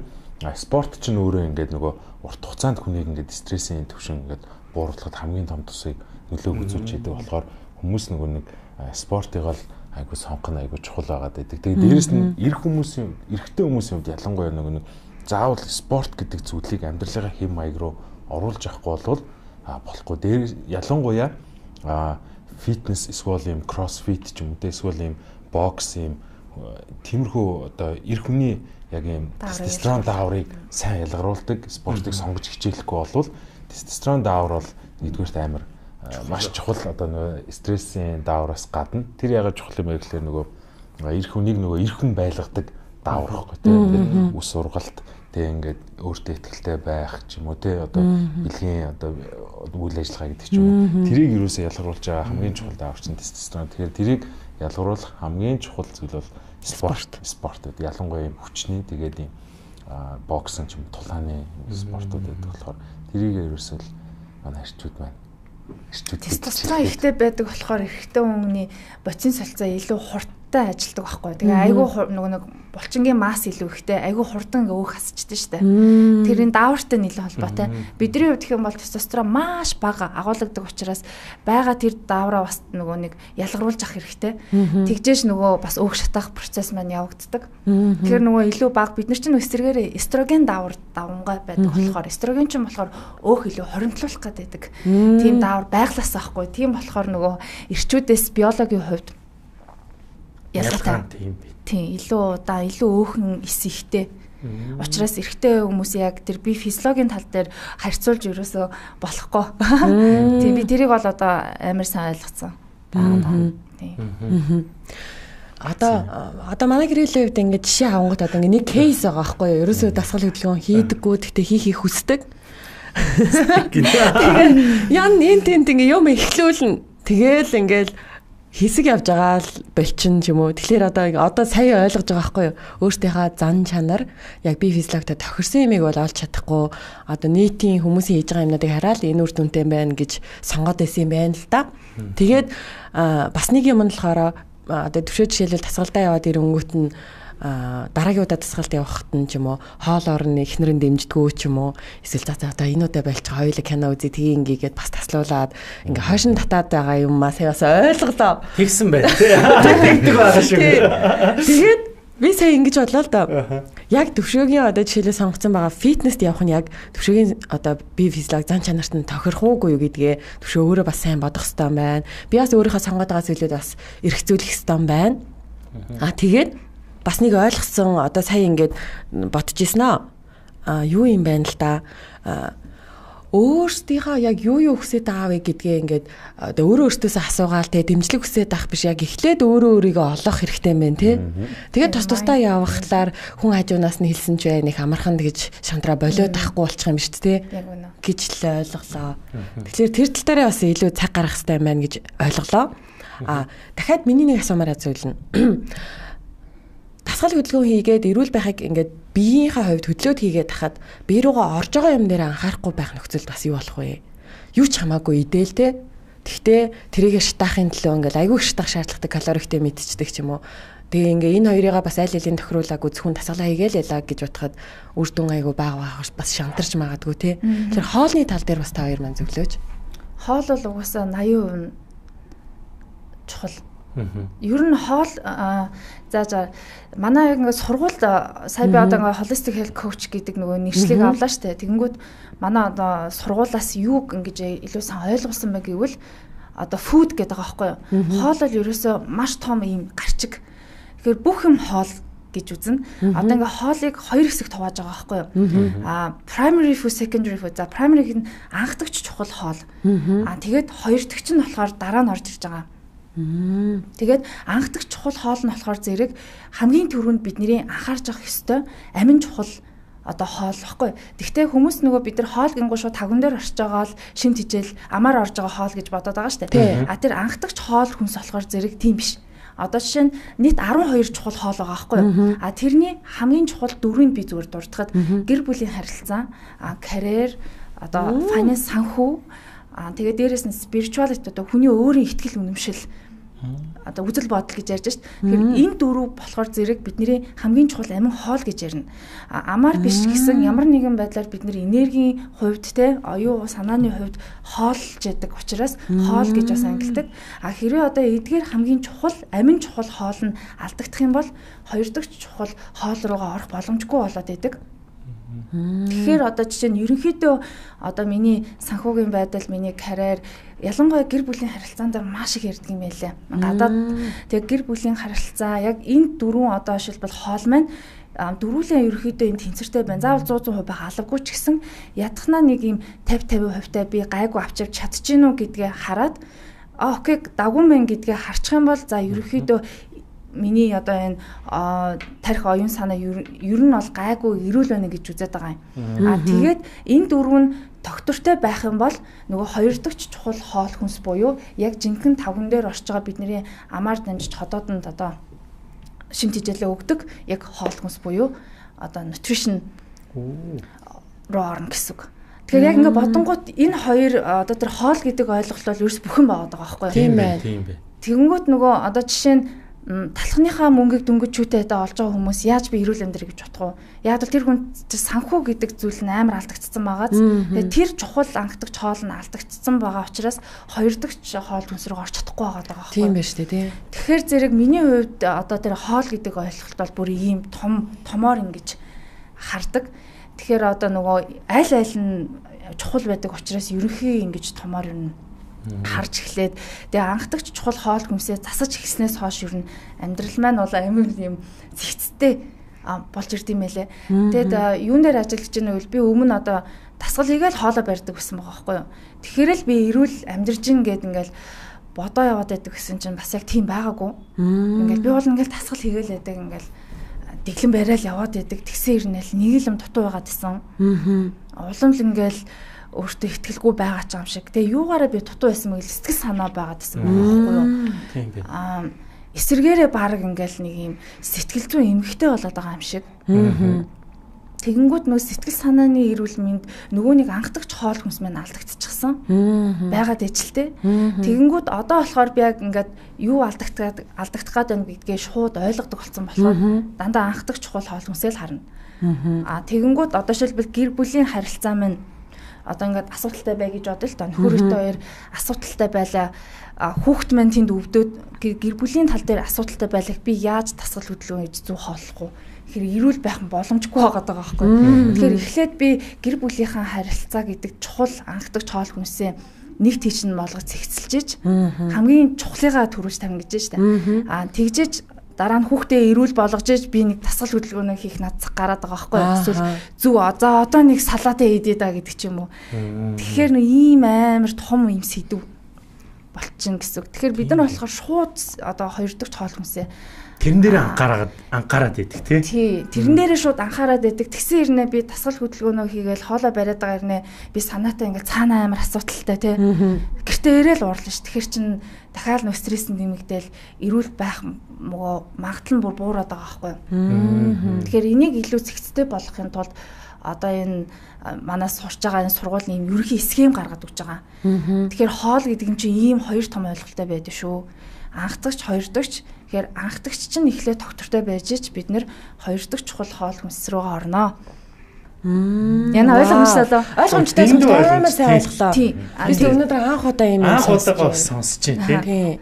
спорт ч нөөрөө ингээд нөгөө урт хугацаанд хүнийг ингээд стрессийн түвшин ингээд бууруулахад хамгийн том тусыг нөлөөг үзүүлж идэг болохоор хүмүүс нөгөө нэг спортыг л айгуу сонгоно айгуу чухал байгаад байдаг. Тэгээд дээрэс нь эрх хүмүүсийн эрэгтэй хүмүүсийн хувьд ялангуяа нөгөө нэг заавал спорт гэдэг зүйлийг амьдралынхаа хэм маяг руу оруулж авахгүй бол болохгүй. Дээр ялангуяа фитнес эсвэл юм кроссфит ч юм уу эсвэл юм бокс юм тиймэрхүү одоо эрх хүний яг юм тестостерон дааврыг сайн ялгаруулдаг спортыг сонгож хичээлэхгүй болвол тестостерон даавар бол нэгдүгээрт амар маш чухал одоо нөгөө стрессийн даавраас гадна тэр ягаад чухал юм бэ гэхээр нөгөө эрх хүнийг нөгөө эрх хүн байлгадаг даавар байхгүй тийм ус ургалт тийм ингээд өөртөө ихтэй байх ч юм уу тийм одоо бэлгийн одоо үйл ажиллагаа гэдэг ч юм уу тэрийг юусоо ялгаруулж байгаа хамгийн чухал даавар чинь тестостерон. Тэгэхээр тэрийг ялгаруулах хамгийн чухал зүйл бол спорт спорт гэдэг ялангуяа юм хүчний тэгээд юм боксын ч юм тулааны спортууд гэдэг болохоор тэрийг юусоо манай хэрчүүд байна. Тестостерон ихтэй байдаг болохоор эрэгтэй хүний боцин солилцоо илүү хурдтай ажилдаг байхгүй. Тэгээ айгүй нөгөө нэг булчингийн масс илүү ихтэй, айгүй хурдан ингээ өөх хасчихдээ штэ. Тэрийн даавартай нийлээ холбоотой. Бидний хувьд гэх юм бол тестостерон маш бага агуулдаг учраас байгаа тэр даавраа бас нөгөө нэг ялгаруулж авах хэрэгтэй. Тэгжээш нөгөө бас өөх шатаах процесс маань явагддаг. Тэгэхээр нөгөө илүү бага бид нар чинь эсрэгээрээ эстроген даавар давмгай байдаг болохоор эстроген чинь болохоор өөх илүү хоримтлуулах гэдэг. Тийм даавар байглаас авахгүй. Тийм болохоор нөгөө эрчүүдээс биологийн хувьд ялгаатай. Тийм илүү удаа илүү өөхөн эс ихтэй. Учираас эрэгтэй хүмүүс яг тэр бие физиологийн тал дээр харьцуулж ерөөсөө болохгүй. Тийм би тэрийг бол одоо амар сайн ойлгоцсон. Тийм. Одоо одоо манай гэрээлийн хувьд ингээд жишээ авангууд одоо ингээд нэг кейс байгаа байхгүй юу? Ерөөсөө дасгал хөдөлгөөн хийдэггүй гэхдээ хийхийг хүсдэг. Тэгээд ян энэ тэнд ингээ юм эхлүүлнэ. Тэгээл ингээл хэсэг явж байгаа л болчин ч юм уу. Тэгэхээр одоо одоо сая ойлгож байгаа байхгүй юу? Өөртөөхөө зан чанар яг би физиологтой тохирсон юмыг бол олж чадахгүй. Одоо нийтийн хүмүүсийн хийж байгаа юмнуудыг хараад энэ үр дүнтэй байна гэж сонгоод байсан юм байна л да. Тэгээд бас нэг юм нь болохоор одоо төвшөө жишээлбэл тасгалдаа яваад ирэнгүүт нь дараагийн удаа тасгалд явахад нь ч юм уу хоол орны эхнэрэн дэмждэггүй ч юм уу эсвэл за одоо энэ удаа болчих хоёулаа кино үзье тгий ингээгээд бас таслуулаад ингээ хойшин татаад байгаа юм аа сая бас ойлголоо тэгсэн байна тий тэгдэг байгаа шүү. Тэгээд би сая ингэж бодлоо л да. Яг төвшөөгийн одоо жишээлээ сонгоцсон байгаа фитнест явах нь яг төвшөөгийн одоо бие физиолог зан чанарт нь тохирох уугүй юу гэдгээ төвшөө өөрөө бас сайн бодох хэрэгтэй байна. Би бас өөрийнхөө сонгоод байгаа зүйлүүд бас эргцүүлэх хэрэгтэй байна. Аа тэгээд бас нэг ойлгосон одоо сая ингээд бодож ирсэн аа юу юм байна л да өөрсдийнхөө яг юу юу хүсэж байгаа вэ гэдгээ ингээд одоо өөрөө өөртөөсөө асуугаал те дэмжлэг хүсэж байх биш яг эхлээд өөрөө өөрийгөө олох хэрэгтэй юм байна те тэгээд тус тусдаа явахлаар хүн хажуунаас нь хэлсэн ч бай нэг амархан гэж шантраа болоод тахгүй болчих юм биш те гэж л ойлголоо. Тэгэхээр тэр тал дээр бас илүү цаг гаргах хэрэгтэй юм байна гэж ойлголоо. А дахиад миний нэг асуумаар зүйл нь дасгал хөдөлгөөн хийгээд эрүүл байхыг ингээд биеийнхээ хувьд хөдлөөд хийгээд тахад бие рүүгээ орж байгаа юм дээр анхаарахгүй байх нөхцөлд бас юу болох вэ? Юу ч хамаагүй идэл те. Тэгтээ тэрийгэ шатаахын төлөө ингээд айгүй шатаах шаардлагатай калорихтэй мэдчихдэг ч юм уу. Тэгээ ингээ энэ хоёрыгаа бас аль алийн тохируулааг үзхэн тасгалаа хийгээл ялаа гэж бодоход үр дүн айгүй бага бага бас шантарч магадгүй те. Тэгэхээр хоолны тал дээр бас та хоёр маань зөвлөөж. Хоол бол угаасаа восемь percent чухал. Ер нь хоол за за манай яг ингээд сургуульд сая би одоо ингээд holistic health coach гэдэг нөгөө нэршлиг авлаа штэ. Тэгэнгүүт манай одоо сургуулаас юу ингэж илүү сайн ойлгуулсан бэ гэвэл одоо food гэдэг байгаа байхгүй юу? Хоол бол ерөөсөө маш том юм гарчиг. Тэгэхээр бүх юм хоол гэж үзнэ. Одоо ингээд хоолыг хоёр хэсэгт хувааж байгаа байхгүй юу? Аа primary food, secondary food. За primary нь анхдагч чухал хоол. Аа тэгээд хоёр дахь нь болохоор дараа нь орж ирж байгаа. Тэгээд анхдагч чухал хоол нь болохоор зэрэг хамгийн түрүүнд бидний анхаарч авах ёстой амин чухал одоо хоол واخгүй. Тэгвэл хүмүүс нөгөө бид нар хоол гингуу шууд тавган дээр орж байгаа л шимт хижээл амаар орж байгаа хоол гэж бодоод байгаа шүү дээ. А тэр анхдагч хоол хүнс болохоор зэрэг тийм биш. Одоо жишээ нь нийт арван хоёр чухал хоол байгаа байхгүй юу? А тэрний хамгийн чухал дөрвийг би зүгээр дурдахад гэр бүлийн харилцаа, карьер, одоо финанс, санхүү, а тэгээд дээрэс нь spirituality одоо хүний өөрийн итгэл үнэмшил одоо үзэл бодол гэж ярьж шít. Тэгэхээр энэ дөрөв болохоор зэрэг бидний хамгийн чухал амин хоол гэж ярина. Амар биш гэсэн ямар нэгэн байдлаар бид нэр энергийн хувьд те оюу санааны хувьд хоолж яадаг учраас хоол гэж бас ангилдаг. А хэрвээ одоо эдгээр хамгийн чухал амин чухал хоол нь алдагдах юм бол хоёр дахь чухал хоол руугаа орох боломжгүй болоод идэг. Тэгэхээр одоо жишээ нь ерөнхийдөө одоо миний санхүүгийн байдал, миний карьер ялангуяа гэр бүлийн харилцаан дээр маш их ярддаг юм байлаа. Гадаад тэгээ гэр бүлийн харилцаа яг энэ дөрвөн одоо шилбэл хоол маань дөрвөлэн ерөнхийдөө энэ тэнцвэртэй байна. Заавал сто процент байх алавгүй ч гэсэн ядахнаа нэг юм пятьдесят процент хувьтай би гайгүй авч авч чадчихэв үү гэдгээ хараад а окей дагуун мэн гэдгээ харчих юм бол за ерөнхийдөө миний одоо энэ тарих оюун санаа ер нь бол гайгүй эрүүл байна гэж үзээд байгаа юм. А тэгээд энэ дөрөв нь тогтвортой байх юм бол нөгөө хоёр дахь чухал хоол хүнс буюу яг жинхэнэ тавган дээр орж байгаа бидний амаар дамжиж ходоодонд одоо шимт хичээлээ өгдөг яг хоол хүнс буюу одоо nutrition руу орно гэсэн үг. Тэгэхээр яг ингээ бодонгууд энэ хоёр одоо тэр хоол гэдэг ойлголт бол ерөөс бүхэн байгаа байхгүй юу? Тийм байна. Тийм байна. Тэгэнгүүт нөгөө одоо жишээ нь талхныхаа мөнгийг дөнгөж чүүтэйдээ олж байгаа хүмүүс яаж би эрүүл амьдрах гэж бодох вэ? Яг л тэр хүн санхүү гэдэг зүйл нь амар алдагдсан байгааз тэгээ тэр чухал ангидагч хоол нь алдагдсан байгаа учраас хоёр дахь хоол хүнс рүү орч чадахгүй байгаа даа. Тийм байна шүү дээ тий. Тэгэхээр зэрэг миний хувьд одоо тэр хоол гэдэг ойлголт бол бүр ийм том томоор ингэж хардаг. Тэгэхээр одоо нөгөө аль аль нь чухал байдаг учраас ерөнхий ингэж томоор юм харж эхлээд тэгээ анхдагч чухал хоол хүнсээ засаж эхлснээс хойш ер нь амьдрал маань бол амар юм зэгцтэй болж ирд юм байлээ. Тэгээд юун дээр ажиллаж байгаа нь би өмнө одоо дасгал хийгээл хоолоо барьдаг гэсэн байгаа байхгүй юу. Тэгэхээр л би эрүүл амьдарж гин гэд ингээл бодоо яваад байдаг гэсэн чинь бас яг тийм байгаагүй. Ингээл би бол ингээл дасгал хийгээл байдаг ингээл дэглэн барайл яваад байдаг. Тэгсэн ирнэл нэг л юм дутуу байгаад исэн. Улам л ингээл өөртөө ихтгэлгүй байгаа ч юм шиг. Тэгээ юугаараа би дутуу байсан мэл сэтгэл санаа байгаад байсан байхгүй юу? Тийм би. Аа эсэргээрээ баг ингээл нэг юм сэтгэл зүйн эмгэгтэй болоод байгаа юм шиг. Тэгэнгүүт нөө сэтгэл санааны эрүүл мэнд нөгөө нэг анхдагч хоол хүнс маань алдагдчихсан. Байгаад ижлтэй. Тэгэнгүүт одоо болохоор би яг ингээд юу алдагдаад алдагдах гээд байна гэдгээ шууд ойлгодог болсон болохоор дандаа анхдагч чухал хоол хүнсээ л харна. Аа тэгэнгүүт одоо шилбэл гэр бүлийн харилцаа маань одоо ингээд асуудалтай бай гэж бодъё л та нөхөртэй хоёр асуудалтай байлаа хүүхэд маань тэнд өвдөөд гэр бүлийн тал дээр асуудалтай байлаа би яаж дасгал хөдөлгөөн хийж зүү хооллохгүй тэгэхээр эрүүл байх нь боломжгүй байгаа байхгүй. Тэгэхээр эхлээд би гэр бүлийнхаа харилцаа гэдэг чухал анхдагч хоол хүнсээ нэг тийш нь болгож цэгцэлж хамгийн чухлыгаа төрүүлж тавина гэж байна. Аа тэгжээж дараа нь хүүхдээ эрүүл болгож иж би нэг дасгал хөдөлгөөнөө хийх надцах гараад байгаа байхгүй юу? Эсвэл зүг за одоо нэг салаатаа хийдээ да гэдэг ч юм уу. Тэгэхээр нэг ийм амар том юм сэдв болчихно гэсэн үг. Тэгэхээр бид нар болохоор шууд одоо хоёр дахь хоол хүнсээ тэрэн дээр анхаараад анхаарад байдаг тий. Тий. Тэрэн дээрээ шууд анхаарад байдаг. Тэгсэн ирнэ би дасгал хөдөлгөөнөө хийгээл хоолоо бариад байгаа ирнэ би санаатай ингээл цаанаа амар асуудалтай тий. Гэртээ ирээл уурлаа ш. Тэгэхэр чин дахиад нөө стресс нэмэгдээл эрүүл байх мөгөө магадлал нь бүр буураад байгаа байхгүй юу. Тэгэхээр энийг илүү зэгцтэй болгохын тулд одоо энэ манаас сурч байгаа энэ сургуулийн юм ерөнхий схем гаргаад өгч байгаа. Тэгэхээр хоол гэдэг нь чинь ийм хоёр том ойлголттой байдаг шүү. Анхдагч, хоёр дахь. Тэгэхээр анхдагч чинь эхлээд тогтвортой байж ч бид нэр хоёр дахь чухал хоол хүнс рүүгээ орноо. Яна ойлгомжтой лөө. Ойлгомжтой амар сайн ойлголоо. Би өнөөдөр анх удаа юм анх удаага сонсож байна тий.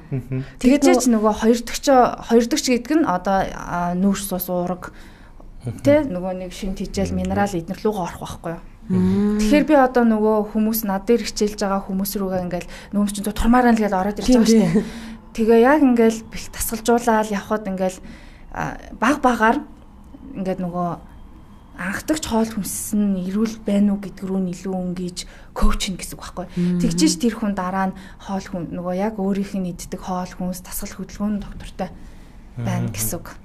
Тэгээд ч нөгөө хоёр дахь хоёр дахь гэдэг нь одоо нүүрс ус уураг тий нөгөө нэг шинт хижээл минерал эднэр лугаа орох байхгүй юу. Тэгэхээр би одоо нөгөө хүмүүс над дээр хичээлж байгаа хүмүүс рүүгээ ингээл нөөм чинь турмаараа л гээд ороод ирж байгаа шүү дээ. Тэгээ яг ингээл бэлт тасгалжуулаад явхад ингээл баг багаар ингээд нөгөө анхдагч хоол хүнс нь эрүүл байна уу гэдг рүү илүү өнгөж коучинг гэсэн үг байхгүй. Тэгжиж тэр хүн дараа нь хоол хүн нөгөө яг өөрийнх нь иддэг хоол хүнс тасгал хөдөлгөөн доктортой байна гэсэн үг.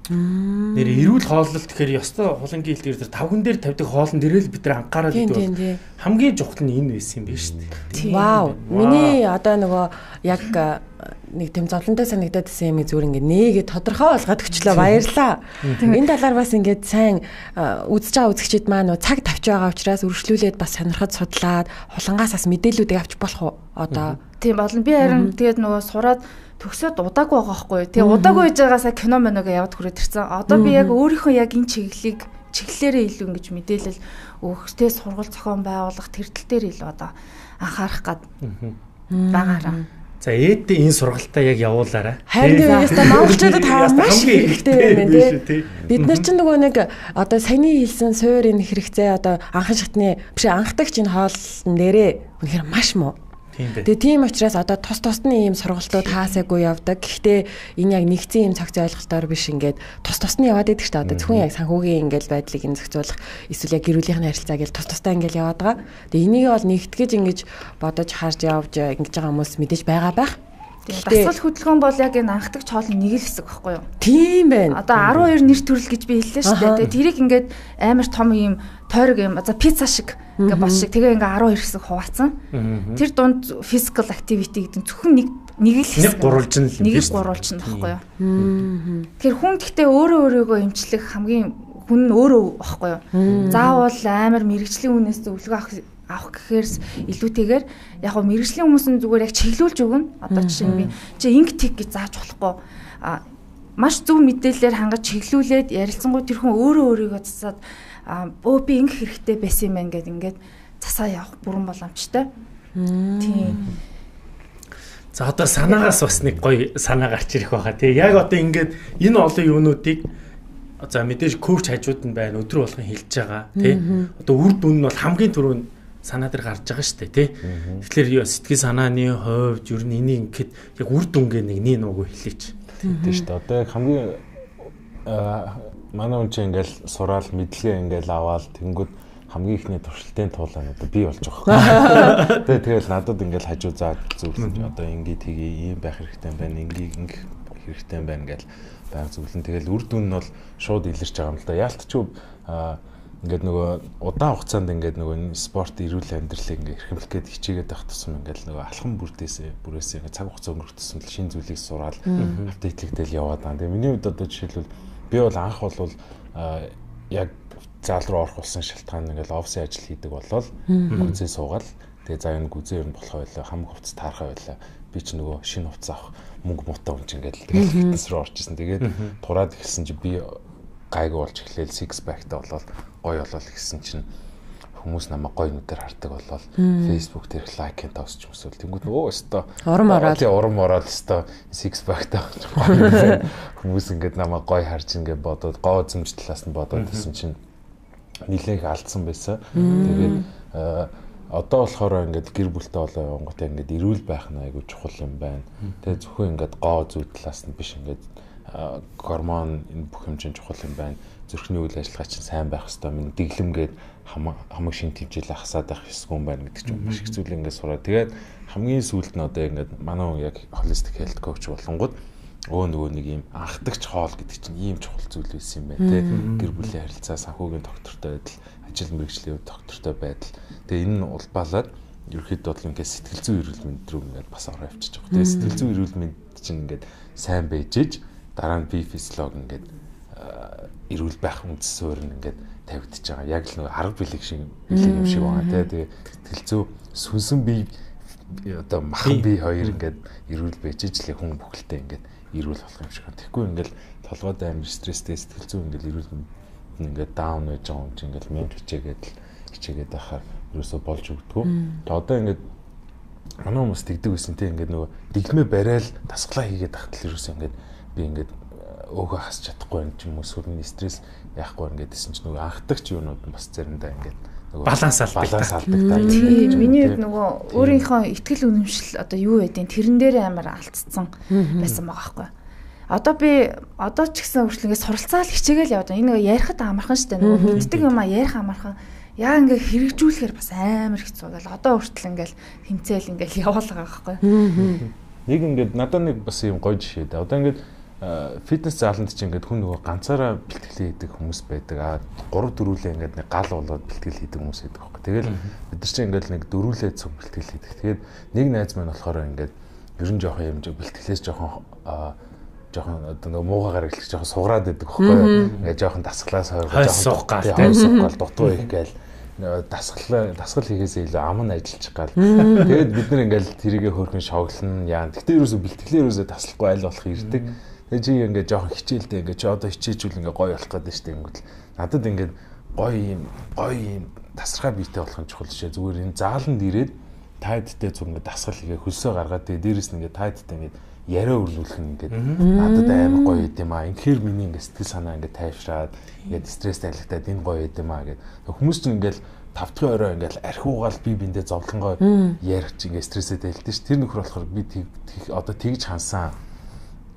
Нэр эрүүл хооллолт гэхээр ёстой хулангийн хил дээр тавган дээр тавьдаг хоолн дээрээ л бид нар анхаарал өгдөг. Хамгийн чухал нь энэ байсан юм байна шүү дээ. Вау. Миний одоо нөгөө яг нэг тийм зовлонтой санагдаад байсан юм зүгээр ингээд нээгээ тодорхой болгоод өчлөө баярлаа. Энэ талаар бас ингээд сайн үзэж байгаа үзэгчид маань цаг тавьж байгаа учраас өргөжлүүлээд бас сонирхож судлаад хулангаас бас мэдээлүүдийг авч болох уу одоо. Тийм болно. Би харин тэгээд нөгөө сураад төгсөөд удаагүй байгаа байхгүй юу. Тэгээ удаагүй байж байгаасаа кино моног яваад хүрээд ирсэн. Одоо би яг өөрийнхөө яг энэ чиглэлийг чиглэлээрээ илүү ингэж мэдээлэл өгөхтэй сургууль зохион байгуулах тэр тал дээр илүү одоо анхаарах гад байгаараа. За ээдтэй энэ сургалтаа яг явуулаарай. Харин ястаа монголчуудад хаа маш хэрэгтэй юм байна тий. Бид нар ч нөгөө нэг одоо саяны хэлсэн суур энэ хэрэгцээ одоо анхан шатны биш анхдагч энэ хоол нэрээ үнэхээр маш муу. Тэгээ тийм учраас одоо тус тусны ийм сургалтууд хаасаагүй явдаг. Гэхдээ энэ яг нэгцэн ийм цогц ойлголтоор биш ингээд тус тусны яваад идэг ч та одоо зөвхөн яг санхүүгийн ингээл байдлыг энэ зохицуулах эсвэл яг гэр бүлийнхний харилцааг л тус тустай ингээл яваад байгаа. Тэгээ энийг бол нэгтгэж ингэж бодож харж явж ингэж байгаа хүмүүс мэдээж байгаа байх. Дасгал хөдөлгөөн бол яг энэ анхдагч хоолны нэг л хэсэг байхгүй юу? Тийм байна. Одоо арван хоёр нэр төрөл гэж би хэллээ шүү дээ. Тэгээ тэрийг ингээд амар том ийм тойрог юм. За пицца шиг ингээд бас шиг тэгээ ингээд арван хоёр хэсэг хуваацсан. Тэр дунд physical activity гэдэг зөвхөн нэг нэг л хэсэг. Нэг гурвалжин л юм. Нэг гурвалжин байхгүй юу? Тэгэхээр хүн гэхдээ өөрөө өөрийгөө эмчлэх хамгийн хүн нь өөрөө байхгүй юу? Заавал амар мэрэгжлийн хүнээс зөвлөгөө авах авах гэхээрс илүүтэйгээр яг хөө мэрэгжлийн хүмүүс нь зүгээр яг чиглүүлж өгнө. Одоо жишээ нь би чи инг тик гэж зааж болохгүй. А маш зөв мэдээлэлээр хангаж чиглүүлээд ярилцсангуй тэр хүн өөрөө өөрийгөө засаад өө би инг хэрэгтэй байсан юм байна гэд ингээд засаа явах бүрэн боломжтой. Тийм. За одоо санаагаас бас нэг гоё санаа гарч ирэх байгаа тий. Яг одоо ингээд энэ олон юунуудыг за мэдээж коуч хажууд нь байна өдрө болгон хэлж байгаа тий. Одоо үр дүн нь бол хамгийн түрүүнд санаа дээр гарч байгаа шүү дээ тий. Тэгэхээр сэтгэл санааны хувьд ер нь энийг ингээд яг үр дүнгээ нэг нэг нүгөө хэлээч. Тийм шүү дээ. Одоо яг хамгийн манай хүн чинь ингээл сураал мэдлэгээ ингээл аваад тэнгүүд хамгийн ихний туршилтын туулаа одоо би болж байгаа. Тэгээ тэгэл надад ингээл хажуу заад зөвлөж одоо ингээд тгий ийм байх хэрэгтэй юм байна. Ингээд ингэ хэрэгтэй юм байна гэл байг зөвлөн. Тэгэл үр дүн нь бол шууд илэрч байгаа юм л да. Яалтчгүй ингээд нөгөө удаан хугацаанд ингээд нөгөө спорт эрүүл амьдралыг ингээд эрхэмлэх гээд хичээгээд байх тусам ингээд нөгөө алхам бүрдээсээ бүрээсээ ингээд цаг хугацаа өнгөрөх тусам л шинэ зүйлийг сураал апдейтлэгдэл яваад байгаа. Тэгээ миний хувьд одоо жишээлбэл би бол анх бол яг зал руу орох болсон шалтгаан ингээд офисын ажил хийдэг болол гүзээ суугаал тэгээ за энэ гүзээ ер нь болох байлаа хамаг хувцас таархаа байлаа. Би ч нөгөө шинэ хувцас авах мөнгө муутай хүн чинь ингээд тэгэл фитнес руу орж исэн. Тэгээд тураад эхэлсэн чи би гайгүй болж эхлээл six pack-тай болол гоё болол гэсэн чинь хүмүүс намайг гоё нүдээр хардаг болол Facebook дээр лайк and тосч юмсвал тэнгууд өө өстой урам ороод урам ороод өстой six pack-тай хүмүүс ингээд намайг гоё харж ингээд бодоод гоо зэмж талаас нь бодоод гэсэн чинь нилээх алдсан байсан. Тэгээд одоо болохоор ингээд гэр бүлтэй болоо явангуудаа ингээд эрүүл байх нь айгүй чухал юм байна. Тэгээд зөвхөн ингээд гоо зүй талаас нь биш ингээд гормон энэ бүх юм чинь чухал юм байна. Зүрхний үйл ажиллагаа чинь сайн байх хэрэгтэй. Минь дэглэмгээд хамаг шинэ тэмцэл хасаад байх ёсгүй юм байна гэдэг чинь маш их зүйл ингээд сураа. Тэгээд хамгийн сүүлд нь одоо ингээд манай хүн яг holistic health coach болонгууд өө нөгөө нэг юм анхдагч хоол гэдэг чинь ийм чухал зүйл байсан юм байна те. Гэр бүлийн харилцаа, санхүүгийн доктортой байдал, ажил мэргэжлийн доктортой байдал. Тэгээ энэ нь улбаалаад ерөөхдөө бол ингээд сэтгэл зүйн эрүүл мэнд рүү ингээд бас ороо авчиж байгаа. Тэгээ сэтгэл зүйн эрүүл мэнд чинь ингээд сайн байжээж дараа нь бие физиологи ингээд эрүүл байх үндэс суурь нь ингээд тавигдчихж байгаа. Яг л нөгөө арга бэлэг шиг бэлэг юм шиг байгаа те. Тэгээ сэтгэл зүй сүнсэн бие одоо махан бие хоёр ингээд эрүүл байжээж л хүн бүхэлдээ ингээд эрүүл болох юм шиг байна. Тэгэхгүй ингээл толгойд амар стресстэй сэтгэл зүй ингээл эрүүл ингээд даун байж байгаа юм чи ингээл мэн хичээгээд хичээгээд байхаар ерөөсө болж өгдөг. Тэгээ одоо ингээд манай хүмүүс тэгдэг байсан те ингээд нөгөө дэглэмээ барайл тасглаа хийгээд тахтал ерөөсө ингээд би ингээд өөгөө хасч чадахгүй юм чи хүмүүс сүрний стресс яахгүй ингээд гэсэн чи нөгөө анхдагч юунууд нь бас заримдаа ингээд баланс алдаг. Баланс алдаг та. Тийм миний хувьд нөгөө өөрийнхөө ихтгэл үнэмшил одоо юу байдیں۔ Тэрэн дээр амар алдцсан байсан байгаа байхгүй. Одоо би одоо ч гэсэн өөрчлөнгөө суралцаал хичээгээл яваад энэ нөгөө ярихад амархан штэ нөгөө мэддэг юм а ярих амархан. Яа ингээ хэрэгжүүлэхээр бас амар хэцүү гэл одоо өөртөл ингээл тэмцээл ингээл яваалгаа байхгүй. Нэг ингээд надад нэг бас юм гоё жишээ дээ. Одоо ингээд фитнес зааланд чинь ингээд хүн нөгөө ганцаараа бэлтгэл хийдэг хүмүүс байдаг. Аа гурав дөрвөлээ ингээд нэг гал болоод бэлтгэл хийдэг хүмүүс байдаг байхгүй. Тэгэл бид нар чинь ингээд нэг дөрвөлээ цуг бэлтгэл хийдэг. Тэгээд нэг найз маань болохоор ингээд ер нь жоохон юм бэлтгэлээс жоохон жоохон одоо нөгөө муугаар эхлэх жоохон сугараад байдаг байхгүй ингээ жоохон дасглаас хойж суух гал хойж суух гал дутуу их гээл дасгал дасгал хийхээс илүү ам нь ажиллах гал тэгээд бид нар ингээл тэрийгэ хөөрхөн шоглоно яа гэхдээ ерөөсө бэлтгэлээ ерөөсө таслахгүй айл болох ирдэг тэгээд чи ингээ жоохон хичээлдээ ингээ чи одоо хичээжүүл ингээ гоё болох гэдэг штеп ингүүл надад ингээ гоё юм гоё юм тасархай биетэй болох нь чухал шээ зүгээр энэ зааланд ирээд тайдтай зүг ингээ дасгал хийгээ хөлсөө гаргаад тэгээд дээрэс нь ингээ тайдтай ингээ яриа өрнүүлэх нь ингээд надад амар гоё юм аа. Инхээр миний ингээд сэтгэл санаа ингээд тайвшраад ингээд стресс тайлгтаад энэ гоё юм аа гэд. Хүмүүс ч ингээд тав дахь орой ингээд архиугаал би биндээ зовлонгой ярих чи ингээд стрессээ тайлдсан ш. Тэр нөхөр болохоор би одоо тэгж хансан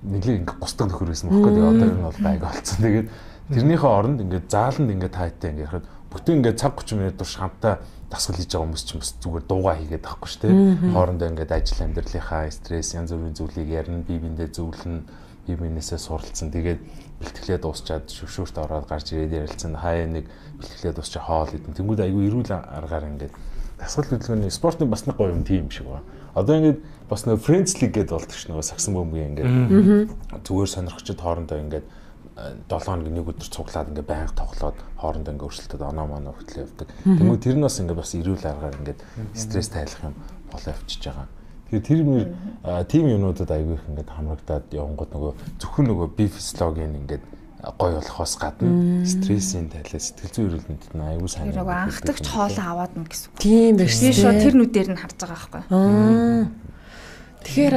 нэглэг ингээд густдаг нөхөр байсан бохоо. Тэгээ одоо энэ бол гайг болцсон. Тэгээд тэрнийхээ оронд ингээд зааланд ингээд тайтай ингээд ярихад бүтэн ингээд цаг тридцать минут турш хамтаа дасгал хийж байгаа хүмүүс ч бас зүгээр дуугаа хийгээд байхгүй шүү дээ. Хоорондоо ингээд ажил амьдралынхаа стресс янз бүрийн зүйлийг ярина, бие биендээ зөвлөн, бие биенээсээ суралцсан. Тэгээд бэлтгэлээ дуусчаад шүвшүүрт ороод гарч ирээд ярилцсан. Хаяа нэг бэлтгэлээ дуусчаа хоол идэн. Тэнгүүд айгүй эрүүл аргаар ингээд дасгал хөдөлгөөний спортын бас нэг гоё юм тийм шиг байна. Одоо ингээд бас нэг Friends League гэдэг болдог ш нөгөө сагсан бөмбөгийн ингээд зүгээр сонирхчид хоорондоо ингээд долоо хоног нэг өдөр цуглаад ингээ байнга тоглоод хоорондоо ингээ өрсөлдөд оноо моноо хөтлөө явдаг. Тэгмээ тэр нь бас ингээ бас эрүүл аргаар ингээ стресс тайлах юм болоо явчихж байгаа. Тэгэхээр тэр нэр тим юмнуудад айгүй их ингээ хамрагдаад явангууд нөгөө зөвхөн нөгөө бие физиологийн ингээ гой болохоос гадна стрессийн тайлаа сэтгэл зүйн эрүүл мэндэд нь айгүй сайн. Тэр нөгөө анхдагч хоолоо аваад нь гэсэн. Тийм биш. Би шууд тэр нүдээр нь харж байгаа байхгүй. Тэгэхээр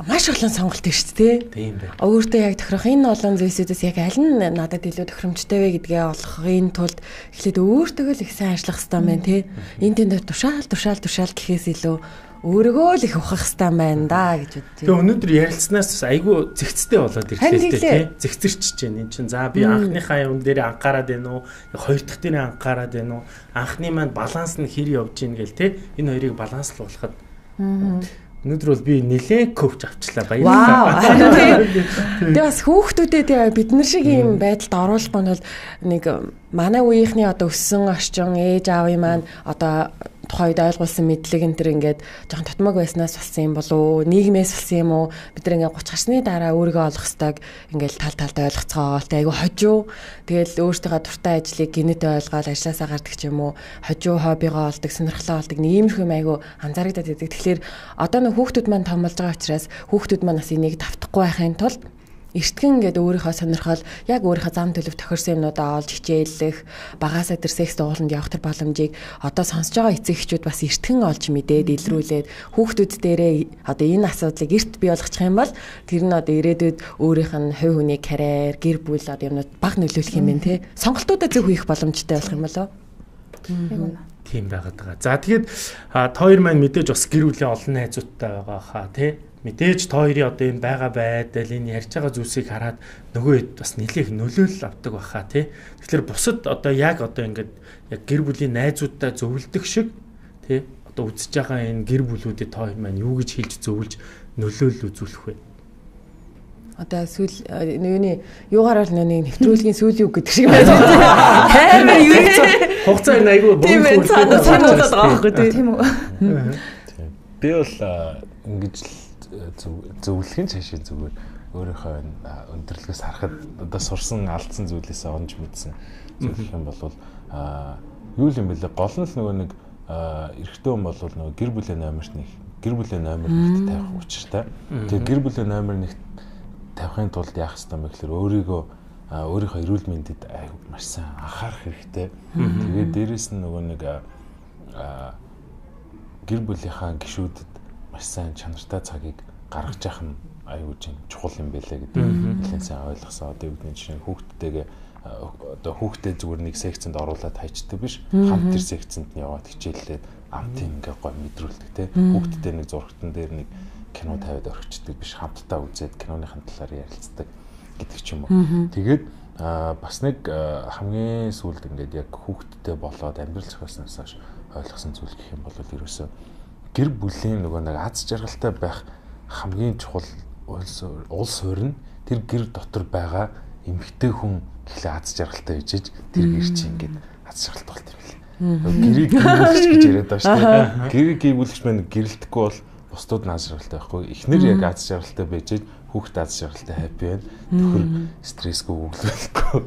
маш олон сонголт байна шүү дээ. Тийм байна. Өөртөө яг тохирох энэ олон зүйлсүүдээс яг аль нь надад илүү тохиромжтой вэ гэдгээ олохын тулд эхлээд өөртөө л их сайн ажиллах хэрэгтэй байна тий. Энэ тэнд тушаал тушаал тушаал гэхээс илүү өөрийгөө л их ухах хэрэгтэй байна да гэж бодчих. Тэгээ өнөөдөр ярилцсанаас айгүй зэгцтэй болоод ирлээ тий. Зэгцэрчж байна. Энд чинь за би анхныхаа юм дээр анхаарад байна уу? Хоёр дахь дээр анхаарад байна уу? Анхны маань баланс нь хэр явж гин гэл тий. Энэ хоёрыг баланслуулахад өнөөдөр бол би нэлээд коуч авчлаа баярлалаа. Тэгээ бас хүүхдүүдэд бид нар шиг ийм байдалд оруулахгүй нь бол нэг манай үеийнхний одоо өссөн орчин ээж аавын маань одоо тухайд ойлгуулсан мэдлэг энэ төр ингээд жоохон татмаг байснаас болсон юм болоо нийгмээс болсон юм уу бид нар ингээд гуч гарсны дараа өөрийгөө олох хэвээр ингээд тал талд ойлгоцгоол тэ айгу хожуу тэгэл өөртөө дуртай ажлыг гинэт ойлгоод ажилласаа гардаг ч юм уу хожуу хоббигоо олдог сонирхлоо олдог нэг иймэрхүү юм айгу анзаарэгдээд байдаг. Тэгэхээр одоо нэг хүүхдүүд маань том болж байгаа учраас хүүхдүүд маань бас энийг давтахгүй байхын тулд эртгэн ингээд өөрийнхөө сонирхол яг өөрийнхөө зам төлөв тохирсон юмнуудаа олж хичээллэх багаасаа тэр секс дууланд явах тэр боломжийг одоо сонсож байгаа эцэг эхчүүд бас эртгэн олж мэдээд илрүүлээд хүүхдүүд дээрээ одоо энэ асуудлыг эрт бий болгочих юм бол тэр нь одоо ирээдүйд өөрийнх нь хувь хүний карьер гэр бүл одоо юмнууд баг нөлөөлөх юм байна те сонголтуудаа зөв хийх боломжтой болох юм болоо тийм байгаад байгаа. За тэгээд та хоёр маань мэдээж бас гэр бүлийн олон найзуудтай байгаа хаа тий мэдээж та хоёрын одоо энэ байгаа байдал энэ ярьж байгаа зүйлсийг хараад нөгөө хэд бас нэлээх нөлөөлөл авдаг баха тий. Тэгэхээр бусад одоо яг одоо ингээд яг гэр бүлийн найзуудтай зөвлөдөг шиг тий одоо үзэж байгаа энэ гэр бүлүүдэд та хоёр маань юу гэж хэлж зөвлөж нөлөөлөл үзүүлэх вэ? Одоо сүүл нүуний юугаар бол нэг нэвтрүүлгийн сүүлийн үг гэдэг шиг байна. Хэмээ юу хугацаа энэ айгүй богино хугацаанд сануулаад байгаа байхгүй тийм үү? Би бол ингэж зөвлөхийн цаашаа зүгээр өөрийнхөө өндөрлөгөөс харахад одоо сурсан алдсан зүйлээсээ онж мэдсэн зөвлөх юм бол юу юм бэлээ гол нь л нөгөө нэг эрэгтэй хүн бол нөгөө гэр бүлийн номерт нэг гэр бүлийн номер нэгт тавих учиртай. Тэгээ гэр бүлийн номер нэгт тавихын тулд яах ёстой юм бэ гэхээр өөрийгөө өөрийнхөө эрүүл мэндэд маш сайн анхаарах хэрэгтэй. Тэгээд дээрэс нь нөгөө нэг гэр бүлийнхаа гишүүдэд маш сайн чанартай цагийг гаргаж явах нь аюул чинь чухал юм байлаа гэдэг нэлээд сайн ойлгосон. Одоо бидний жишээ хүүхдтэйгээ одоо хүүхдээ зүгээр нэг секцэнд оруулаад хайчдаг биш. Хамт тэр секцэнд нь яваад хичээллээд амт ингээ гой мэдрүүлдэг те. Хүүхдтэй нэг зургатан дээр нэг кино тавиад орхичдаг биш. Хамтдаа үзээд киноныхын талаар ярилцдаг гэдэг ч юм уу. Тэгээд бас нэг хамгийн сүүлд ингээд яг хүүхдтэй болоод амьдрал зохиоснаас хойш ойлгосон зүйл гэх юм бол ерөөсөө гэр бүлийн нөгөө нэг аз жаргалтай байх хамгийн чухал улс суурь нь тэр гэр дотор байгаа эмэгтэй хүн гэхлээр аз жаргалтай bijж тэр гэр чинь ингээд аз жаргалтай болт юм лээ. Гэрийг гэрүүлж гэж яриад байгаа шүү дээ. Гэрийг гэрүүлж маань гэрэлтэхгүй бол бусдууд наад жаргалтай байхгүй. Эхнэр яг аз жаргалтай байж хүүхэд аз жаргалтай happy байна. Төхөр стрессгүй өглөөлөхгүй.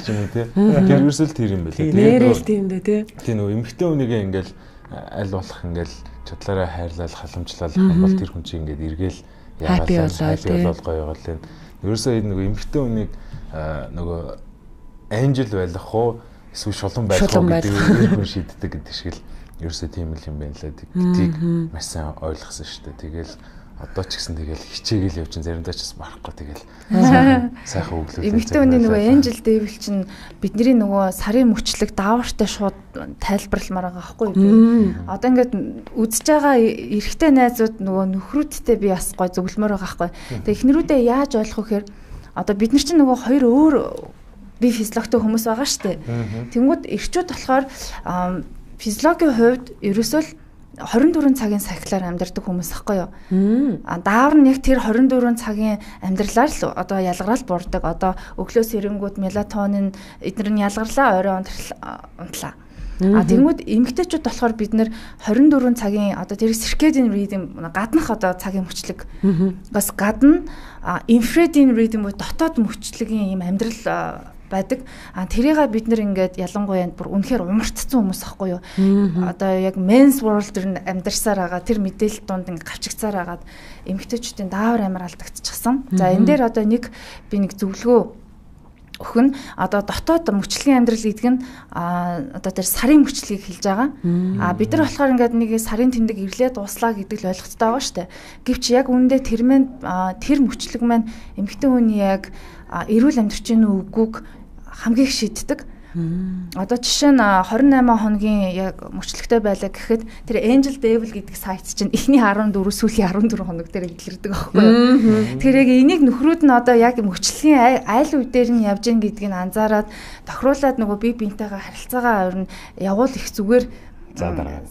Чи юм тий. Тэр ерөөсөл тэр юм байлаа. Нэрэл тийм дээ тий. Тий нөгөө эмэгтэй хүнийгээ ингээл аль болох ингээл чадлаараа хайрлал халамжлал юм бол тэр хүн чинь ингээд эргээл яагаад happy болол гоё болол. Ерөөсөө энэ нөгөө эмэгтэй хүнийг нөгөө анжел байх уу эсвэл шулан байх уу гэдэг хүн шийддэг гэдэг шиг л ерөөсөө тийм л юм байна лээ. Гэдгийг маш сайн ойлгосон шүү дээ. Тэгэл одоо ч гэсэн тэгэл хичээгээл явж заримдаа ч бас барахгүй тэгэл сайхан өглөө. Эмэгтэй хүний нөгөө Angel Devil чинь бидний нөгөө сарын мөчлөг даавартай шууд тайлбарламаар байгаа байхгүй юу? Одоо ингээд үзэж байгаа эрэгтэй найзууд нөгөө нөхрүүдтэй би бас гой зөвлөмөр байгаа байхгүй. Тэгээ эхнэрүүдээ яаж ойлгох вэ гэхээр одоо бид нар чинь нөгөө хоёр өөр би физиологтой хүмүүс байгаа шүү дээ. Тэнгүүд эрчүүд болохоор физиологийн хувьд ерөөсөө хорин дөрвөн цагийн сахилаар амьдардаг хүмүүс ахгүй юу? А даавар нь яг тэр хорин дөрвөн цагийн амьдралаар л одоо ялгараал буурдаг. Одоо өглөө сэрэнгүүд мелатонин эдгээр нь ялгарлаа, орой унтлаа. А тэнгүүд эмэгтэйчүүд болохоор бид нэр хорин дөрвөн цагийн одоо тэр circadian rhythm гаднах одоо цагийн мөчлөг бас гадна infrared rhythm буюу дотоод мөчлөгийн юм амьдрал байдаг. А тэрийгээ бид нэр ингээд ялангуяа бүр үнэхээр умарцсан хүмүүс ахгүй юу? Одоо яг men's world дэр амьдарсаар байгаа тэр мэдээлэл дунд ингээд гавчигцаар агаад эмэгтэйчүүдийн даавар амар алдагдчихсан. За энэ дээр одоо нэг би нэг зөвлөгөө өхөн одоо дотоод мөчлөгийн амьдрал гэдэг нь одоо тэр сарын мөчлөгийг хэлж байгаа. А бид нар болохоор ингээд нэг сарын тэмдэг ирлээ дууслаа гэдэг л ойлгоцтой байгаа шүү дээ. Гэвч яг үүндээ тэр мэн тэр мөчлөг маань эмэгтэй хүний яг эрүүл амьдрч гин үгүйг хамгийн их шийддэг. Одоо жишээ нь двадцать восемь хоногийн яг мөчлөгтэй байлаа гэхэд тэр Angel Devil гэдэг сайт чинь эхний дөрвөн сүүлийн дөрвөн хоног дээр илэрдэг байхгүй юу. Тэгэхээр яг энийг нөхрүүд нь одоо яг мөчлөгийн айл үе дээр нь явж гин гэдгийг анзаараад тохируулаад нөгөө бие биентэйгээ харилцаагаа орно явуул их зүгээр за дараа.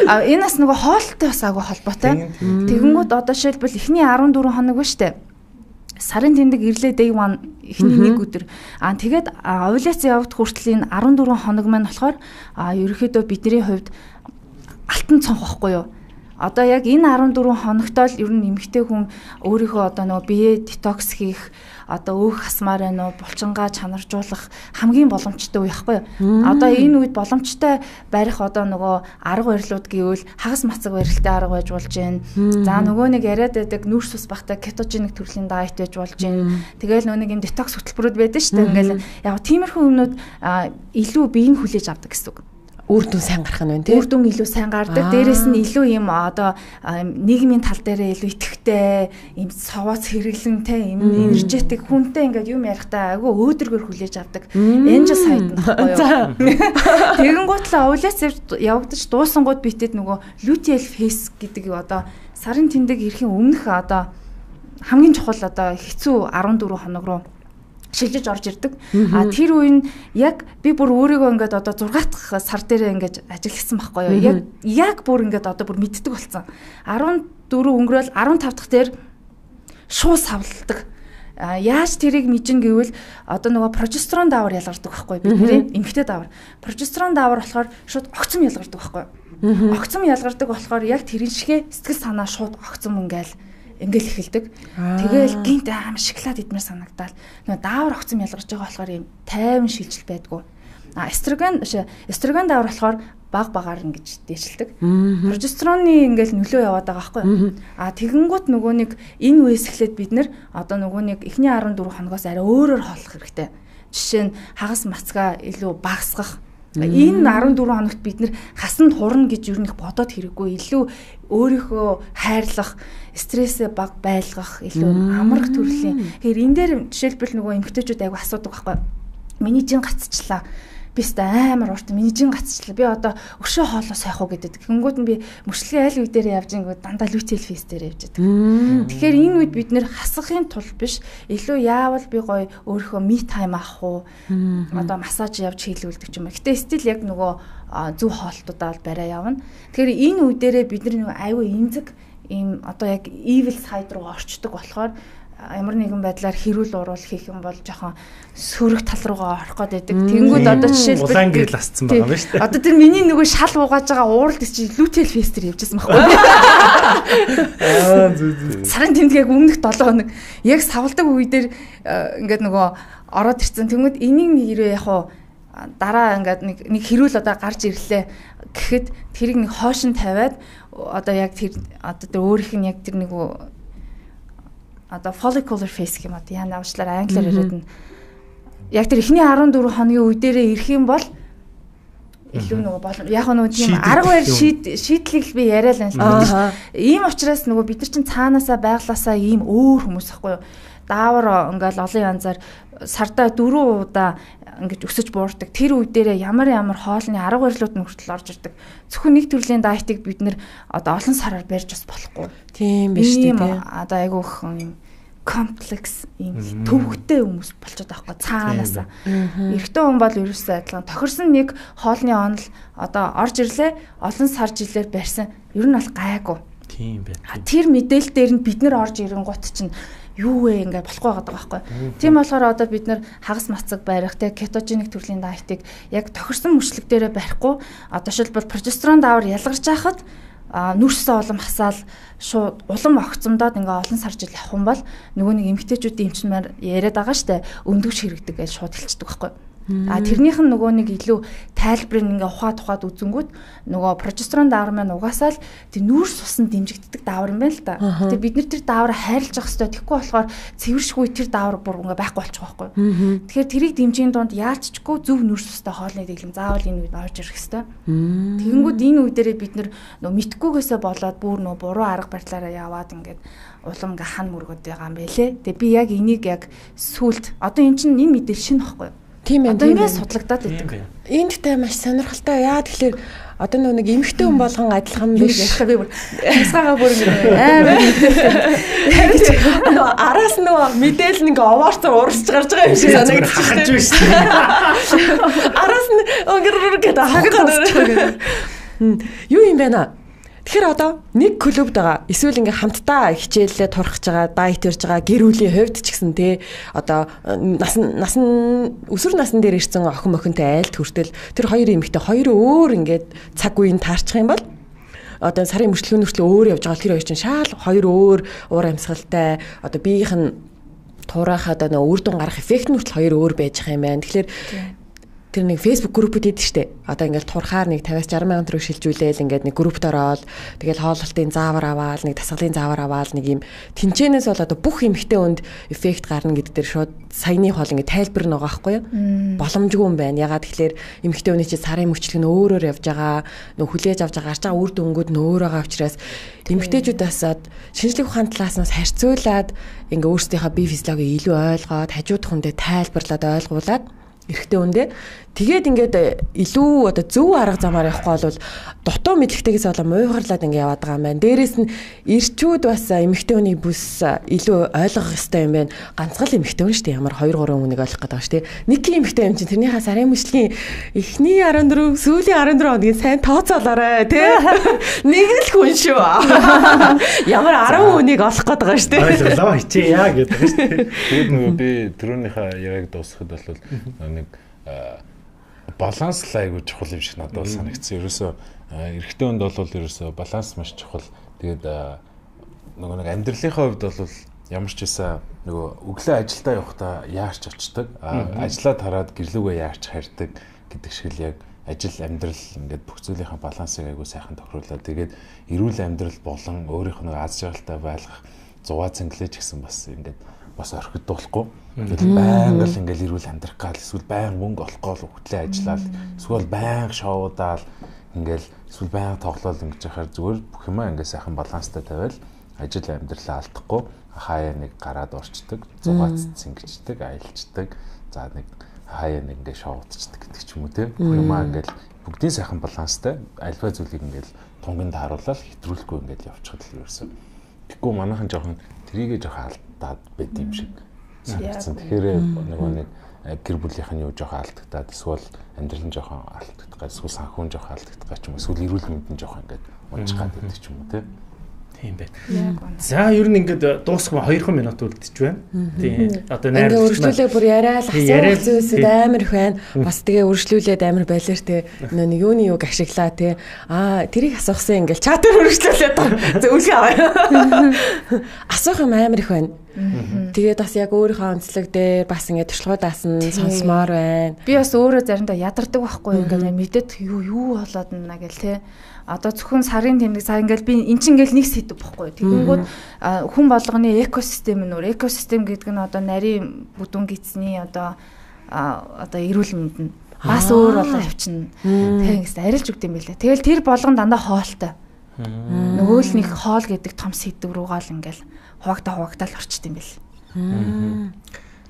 А энэ бас нөгөө хоолтой бас агай холбоотой. Тэгэнгүүт одоо жишээлбэл эхний дөрвөн хоног ба штэ. Сарын тэмдэг ирлээ day one эхний нэг өдөр. Аа тэгээд овуляц явагдах хүртэл энэ дөрвөн хоног маань болохоор ерөөхдөө бидний хувьд алтан цонх байхгүй юу? Одоо яг энэ дөрвөн хоногтой л ер нь эмэгтэй хүн өөрийнхөө одоо нөгөө бие детокс хийх, одоо өөх хасмаар байна уу, булчингаа чанаржуулах хамгийн боломжтой үе байхгүй юу? Одоо энэ үед боломжтой барих одоо нөгөө арга барилууд гэвэл хагас мацаг барилттай арга байж болж байна. За нөгөө нэг яриад байдаг нүүрс ус бахтай кетогеник төрлийн дайет байж болж байна. Тэгээл нөгөө нэг юм детокс хөтөлбөрүүд байдаг шүү дээ. Ингээл яг тиймэрхүү юмнууд илүү биеийг хүлээж авдаг гэсэн үг. Үр дүн сайн гарах нь байна тийм. Үр дүн илүү сайн гардаг. Дээрээс нь илүү юм одоо нийгмийн тал дээрээ илүү итгэвтэй, юм совооц хэрэглэн те, юм энержетик хүнтэй ингээд юм ярихдаа айгүй өөдрөгөр хүлээж авдаг. Angel сайд нь байхгүй юу. Тэгэн гутлаа овуляц явагдаж дуусангууд битэд нөгөө luteal phase гэдэг одоо сарын тэмдэг ирэхин өмнөх одоо хамгийн чухал одоо хэцүү дөрвөн хоног руу шилжиж орж ирдэг. А тэр үе нь яг би бүр өөрийгөө ингээд одоо зургаат дахь сар дээр ингээд ажилласан байхгүй юу. Яг яг бүр ингээд одоо бүр мэддэг болсон. дөрвөн өнгөрөөл дөрвөн тавь дахь дээр шууд савлдаг. А яаж тэрийг мэдэн гэвэл одоо нөгөө прогестерон даавар ялгардаг байхгүй бидний эмэгтэй даавар. Прогестерон даавар болохоор шууд огцом ялгардаг байхгүй. Огцом ялгардаг болохоор яг тэрэн шигэ сэтгэл санаа шууд огцом ингээл ингээл эхэлдэг. Тэгээл гинт аим шоколад идмээр санагдаад нөгөө даавар огцом ялгарч байгаа болохоор юм тайван шилжил байдгүй. А эстроген эстроген даавар болохоор баг багаар ингэж дээшилдэг. Прогестероны ингээл нөлөө яваад байгаа байхгүй. А тэгэнгүүт нөгөө нэг энэ үеэс эхлээд бид нэр одоо нөгөө нэг эхний дөрвөн хоногоос арай өөрөөр хооллох хэрэгтэй. Жишээ нь хагас мацгаа илүү багасгах. Энэ дөрвөн хоногт бид нэр хасанд хурна гэж юу нэг бодоод хэрэггүй. Илүү өөрийнхөө хайрлах, стрессээ баг байлгах, илүү амрах төрлийн. Тэгэхээр энэ дээр жишээлбэл нөгөө эмэгтэйчүүд айгу асуудаг байхгүй. Миний жин гацчлаа. Би өстө амар урт миний жин гацчлаа. Би одоо өшөө хоолоо сайх уу гэдэг. Тэнгүүд нь би мөчлөгийн айл үе дээр явж ингүүд дандаа luteal phase дээр явж байдаг. Тэгэхээр энэ үед бид нэр хасахын тулд биш илүү яавал би гоё өөрийнхөө me time авах уу? Одоо массаж явж хийлүүлдэг ч юм. Гэтэ стил яг нөгөө зөв хоолтуудаа бол барай явна. Тэгэхээр энэ үе дээрээ бид нар нөгөө айгүй эмзэг ийм одоо яг evil side руу орчдөг болохоор ямар нэгэн байдлаар хэрүүл уруул хийх юм бол жоохон сөрөг тал руугаа орох гээд байдаг. Тэнгүүд одоо жишээлбэл улаан гэрэл асцсан байгаа юм шүү дээ. Одоо тэр миний нөгөө шал угааж байгаа ууралд чи лүтэл фестер явжсэн байхгүй. Аа зү зү. Сарын тэмдгийг өмнөх долоо хоног яг савлдаг үе дээр ингээд нөгөө ороод ирсэн. Тэнгүүд энийг нэг ирээ яг хуу дараа ингээд нэг нэг хэрүүл одоо гарч ирлээ гэхэд тэрийг нэг хоошин тавиад одоо яг тэр одоо тэр өөрийнх нь яг тэр нэг одоо follicular face гэмэд яа навчлаар англиар яриад нь яг тэр эхний арван дөрвөн хоногийн үе дээрээ ирэх юм бол илүү нөгөө болон яг нөгөө тийм арга барь шийдлийг би яриа л байна. Ийм учраас нөгөө бид нар чинь цаанаасаа байглаасаа ийм өөр хүмүүс ахгүй юу. Даавар ингээл олон янзаар сардаа дөрвөн удаа ингэж өсөж буурдаг. Тэр үе дээрээ ямар ямар хоолны арга барилууд нь хүртэл орж ирдэг. Зөвхөн нэг төрлийн дайетыг бид нэр одоо олон сараар барьж бас болохгүй. Тийм биш тийм. Одоо айгүй их юм комплекс юм төвөгтэй хүмүүс болчиход байгаа байхгүй цаанаасаа. Эрэгтэй хүн бол ерөөсөө адилхан. Тохирсон нэг хоолны онол одоо орж ирлээ олон сар жилээр барьсан. Ер нь бол гайгүй. Тийм байна. Тэр мэдээлэл дээр нь бид нар орж ирэн гут чинь юу вэ ингээд болохгүй байгаа байхгүй. Тийм болохоор одоо бид нар хагас мацаг барих те кетогеник төрлийн дайетыг яг тохирсон мөчлөг дээрээ барихгүй одоо шилбэл прогестерон даавар ялгарч байхад нүрсээ улам хасаал шууд улам огцомдоод ингээ олон сар жил явах юм бол нөгөө нэг эмэгтэйчүүдийн эмчмээр яриад байгаа штэ өндөгч хэрэгдэг гэж шууд хэлчихдэг байхгүй. А тэрнийх нь нөгөө нэг илүү тайлбарыг ингээ ухаад ухаад үзэнгүүт нөгөө прогестерон даавар маань угаасаа л тэр нүүрс усан дэмжигддэг даавар юм байна л да. Гэтэ бид нар тэр даавар хайрлаж явах хэрэгтэй. Тэгэхгүй болохоор цэвэршгүй тэр даавар бүр ингээ байхгүй болчих واخгүй. Тэгэхээр тэрийг дэмжихийн донд яалччгүй зөв нүүрс устай хоолны дэглэм заавал энэ үед орж ирэх хэрэгтэй. Тэгэнгүүт энэ үе дээрээ бид нар нөгөө мэдхгүйгээсээ болоод бүр нөгөө буруу арга барилаараа яваад ингээд улам ингээ хан мөргөд байгаа юм байлээ. Тэгээ би яг энийг яг сүулт одоо эн чинь энэ мэдээлэл шинэ واخгүй. Тийм ээ. Одоо ингэ судлагдаад байдаг. Энэ дэхтэй маш сонирхолтой. Яа тэгэхээр одоо нэг эмэгтэй хүн болгон адилхан биш. Ярих би бүр хасгаага бүр амар мэдээлэл. Араас нөгөө мэдээлэл ингээ овоорцоо уурсч гарч байгаа юм шиг санагдаж хахаж биш тийм. Араас нь өнгөрөр гэдэг хахаж. Юу юм бэ наа? Тэгэхээр одоо нэг клубд байгаа эсвэл ингээ хамтдаа хичээлээ турхаж байгаа, дайет ярьж байгаа гэр бүлийн хувьд ч гэсэн те одоо нас нас өсвөр насн дээр ирсэн охин мохинтой айлт хүртэл тэр хоёр эмэгтэй хоёр өөр ингээд цаг үеийн таарчих юм бол одоо сарын мөрчлөгийн нүртэл өөр явж байгаа тэр хоёр чинь шаал хоёр өөр уур амьсгалтай одоо биеийнх нь туурайхад одоо үр дүн гарах эффект нь хүртэл хоёр өөр байж байгаа юм байна. Тэгэхээр тэр нэг Facebook группуд идэв штэ. Одоо ингээл турхаар нэг пятьдесят сixty мянган төгрөг шилжүүлээл ингээд нэг группт ороод тэгэл хооллолтын заавар аваал, нэг дасгалын заавар аваал нэг юм тэнцэнээс бол одоо бүх эмхтэй хүнд эффект гарна гэдэг дээр шууд саяны хоол ингээд тайлбар нэг байгаа байхгүй юу? Боломжгүй юм байна. Ягаад тэгэхээр эмхтэй хүний чинь сарын мөчлөг нь өөрөөр явж байгаа, нөх хүлээж авч байгаа гарч байгаа үр дүнгууд нь өөр байгаа учраас эмхтэйчүүдээс шинжлэх ухааны талаас нь харьцуулаад ингээд өөрсдийнхөө бие физиологийг илүү ойлгоод хажуудах хүндээ тайлбарлаад ойлгуулад эрэгтэй үндэ тэгээд ингээд илүү одоо зөв арга замаар явахгүй бол дутуу мэдлэгтэйгээс болоо муухарлаад ингээд яваад байгаа юм байна. Дээрээс нь эрчүүд бас эмэгтэй хүний бүс илүү ойлгох ёстой юм байна. Ганцхан эмэгтэй хүн шүү дээ. Ямар two three хүнийг ойлгох гэдэг байна шүү дээ. Нэг эмэгтэй юм чинь тэрнийхээ сарын мөчлийн эхний fourteen сүүлийн fourteen хоногийн сайн тооцоолоорой тий. Нэг л хүн шүү. Ямар ten хүнийг олох гэдэг байгаа шүү дээ. Ойлголоо хичээя гэдэг шүү дээ. Тэгээд нөгөө би түрүүнийхээ яг дуусахад бол нэг баланс айгуу чухал юм шиг надад бол санагдсан. Ерөөсөө эрэгтэй хүнд бол ерөөсөө баланс маш чухал. Тэгээд нөгөө нэг амьдралынхаа хувьд бол ямар ч байсан нөгөө өглөө ажилдаа явахдаа яарч очдог, ажлаа тараад гэрлүүгээ яарч харьдаг гэдэг шиг л яг ажил амьдрал ингээд бүх зүйлийнхаа балансыг айгуу сайхан тохируулаад тэгээд эрүүл амьдрал болон өөрийнх нь аз жаргалтай байх зугаа цэнгэлэж гисэн бас ингээд бас орхидуулахгүй. Тэгэл байнга л ингээл ирүүл амьдрах гал эсвэл байнга мөнгө олох гол хөтлөө ажиллаад эсвэл байнга шоудаал ингээл эсвэл байнга тоглоал ингэж яхаар зүгээр бүх юмаа ингээд сайхан баланстай тавиал ажил амьдралаа алдахгүй хаяа нэг гараад орчдөг, зугаац цэнгичдэг, аялцдаг. За нэг хаяа нэг ингээд шоудчдаг гэдэг ч юм уу те. Бүх юмаа ингээд бүгдийн сайхан баланстай альва зүйлийг ингээд тунганд харуулаад хэтрүүлэхгүй ингээд явчихад л ерөөсөн. Тэгэхгүй манайхан жоохон трийгээ жоохон алдаад байд юм шиг санагдсан. Тэгэхээр нөгөө нэг гэр бүлийнх нь юу жоохон алдагдаад эсвэл амьдрал нь жоохон алдагддаг, эсвэл санхүүн жоохон алдагддаг ч юм уу, эсвэл эрүүл мэнд нь жоохон ингээд унжих гад байдаг ч юм уу те. Тийм байна. За ер нь ингээд дуусах хоёр минут үлдчихэж байна. Тийм. Одоо найрлаж ингээ үргэлжлүүлээ бүр яриа л асуух зүйлсэд амар их байна. Бас тэгээ үргэлжлүүлээд амар байлэр те нэг юуны юг ашиглаа те. Аа тэрийг асуухсан ингээл чатаар үргэлжлүүлээд зөвлөгөө аваа. Асуух юм амар их байна. Тэгээд бас яг өөрийнхөө онцлог дээр бас ингээд туршлагуудаас нь сонсомоор байна. Би бас өөрөө заримдаа ядардаг байхгүй ингээд мэдээд юу юу болоод наа гэл те. Одоо зөвхөн сарын тэмдэг сая ингээл би эн чинь ингээл нэг сэдв бохгүй. Тэгэнгүүт хүн болгоны экосистем нөр экосистем гэдэг нь одоо нарийн бүдүүн гидсний одоо одоо эрүүл мэнд нь бас өөр болоо явчихна. Тэгээс арилж өгд юм билээ. Тэгэл тэр болгон дандаа хоолтой. Нөгөө л нэг хоол гэдэг том сэдв рүүгээ л ингээл хуваагта хуваагтаал орчт юм бэл.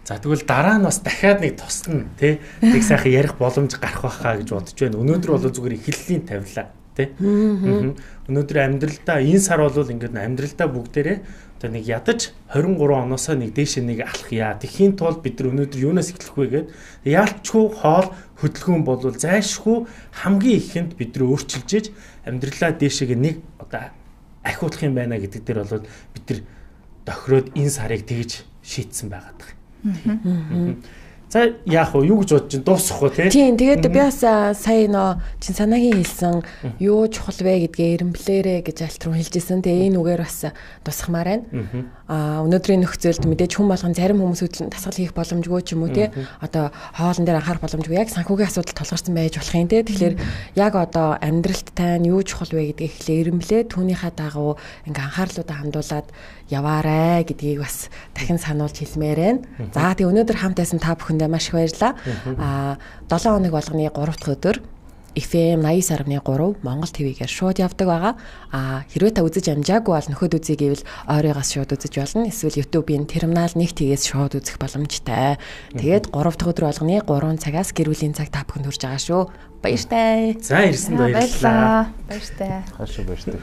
За тэгвэл дараа нь бас дахиад нэг тусна тий. Тэг сайхан ярих боломж гарах байхаа гэж бодож байна. Өнөөдөр бол зүгээр эхлэлийн тавилаа. Өнөөдөр амьдралдаа энэ сар бол ингээд амьдралдаа бүгдээрээ одоо нэг ядаж двадцать три оноосоо нэг дээшээ нэг алхъя. Тэхийн тулд бид нар өнөөдөр юунаас эхлэх вэ гэгээд яалтчгүй хоол хөдөлгөөн бол зайлшгүй хамгийн ихэнд бид нар өөрчилж иж амьдралаа дээшээ нэг одоо ахиулах юм байна гэдэг дээр бол бид нар тохироод энэ сарыг тэгж шийдсэн байгаад байна. За яах вэ? Юу гэж бодож чинь дуусах уу тий? Тийм. Тэгээд би бас сая нөө чин санаагийн хэлсэн юу чухал вэ гэдгээ эренблээрэ гэж альт руу хэлжсэн. Тэгээ энэ үгээр бас тусахмаар байна. Аа өнөөдрийн нөхцөлд мэдээж хүн болгон зарим хүмүүс дасгал хийх боломжгүй ч юм уу тий. Одоо хоолн дээр анхаарах боломжгүй. Яг санхүүгийн асуудал толгарсан байж болох юм тий. Тэгэхээр яг одоо амьдралт тань юу чухал вэ гэдгийг эхлээ эренблээ түүнийхээ дагуу ингээ анхаарлуудаа хандуулад яваарэ гэдгийг бас дахин сануулж хэлмээр байна. За тэгээ өнөөдөр хамт байсан та бүхэндээ маш их баярлалаа. Аа долоон хоног болгоны гурав дахь өдөр эф эм ninety-nine point three Монгол ТV-гээр шууд явдаг байгаа. Аа хэрвээ та үзэж амжаагүй бол нөхөд үзье гэвэл ойрыгоос шууд үзэж болно. Эсвэл YouTube-ийн терминал нэг тгээс шууд үзэх боломжтой. Тэгээд гурав дахь өдөр болгоны тhree цагаас гэр бүлийн цаг та бүхэнд хүрж байгаа шүү. Баяртай. За ирсэнд баярлалаа. Баяртай. Хашаа баяртай.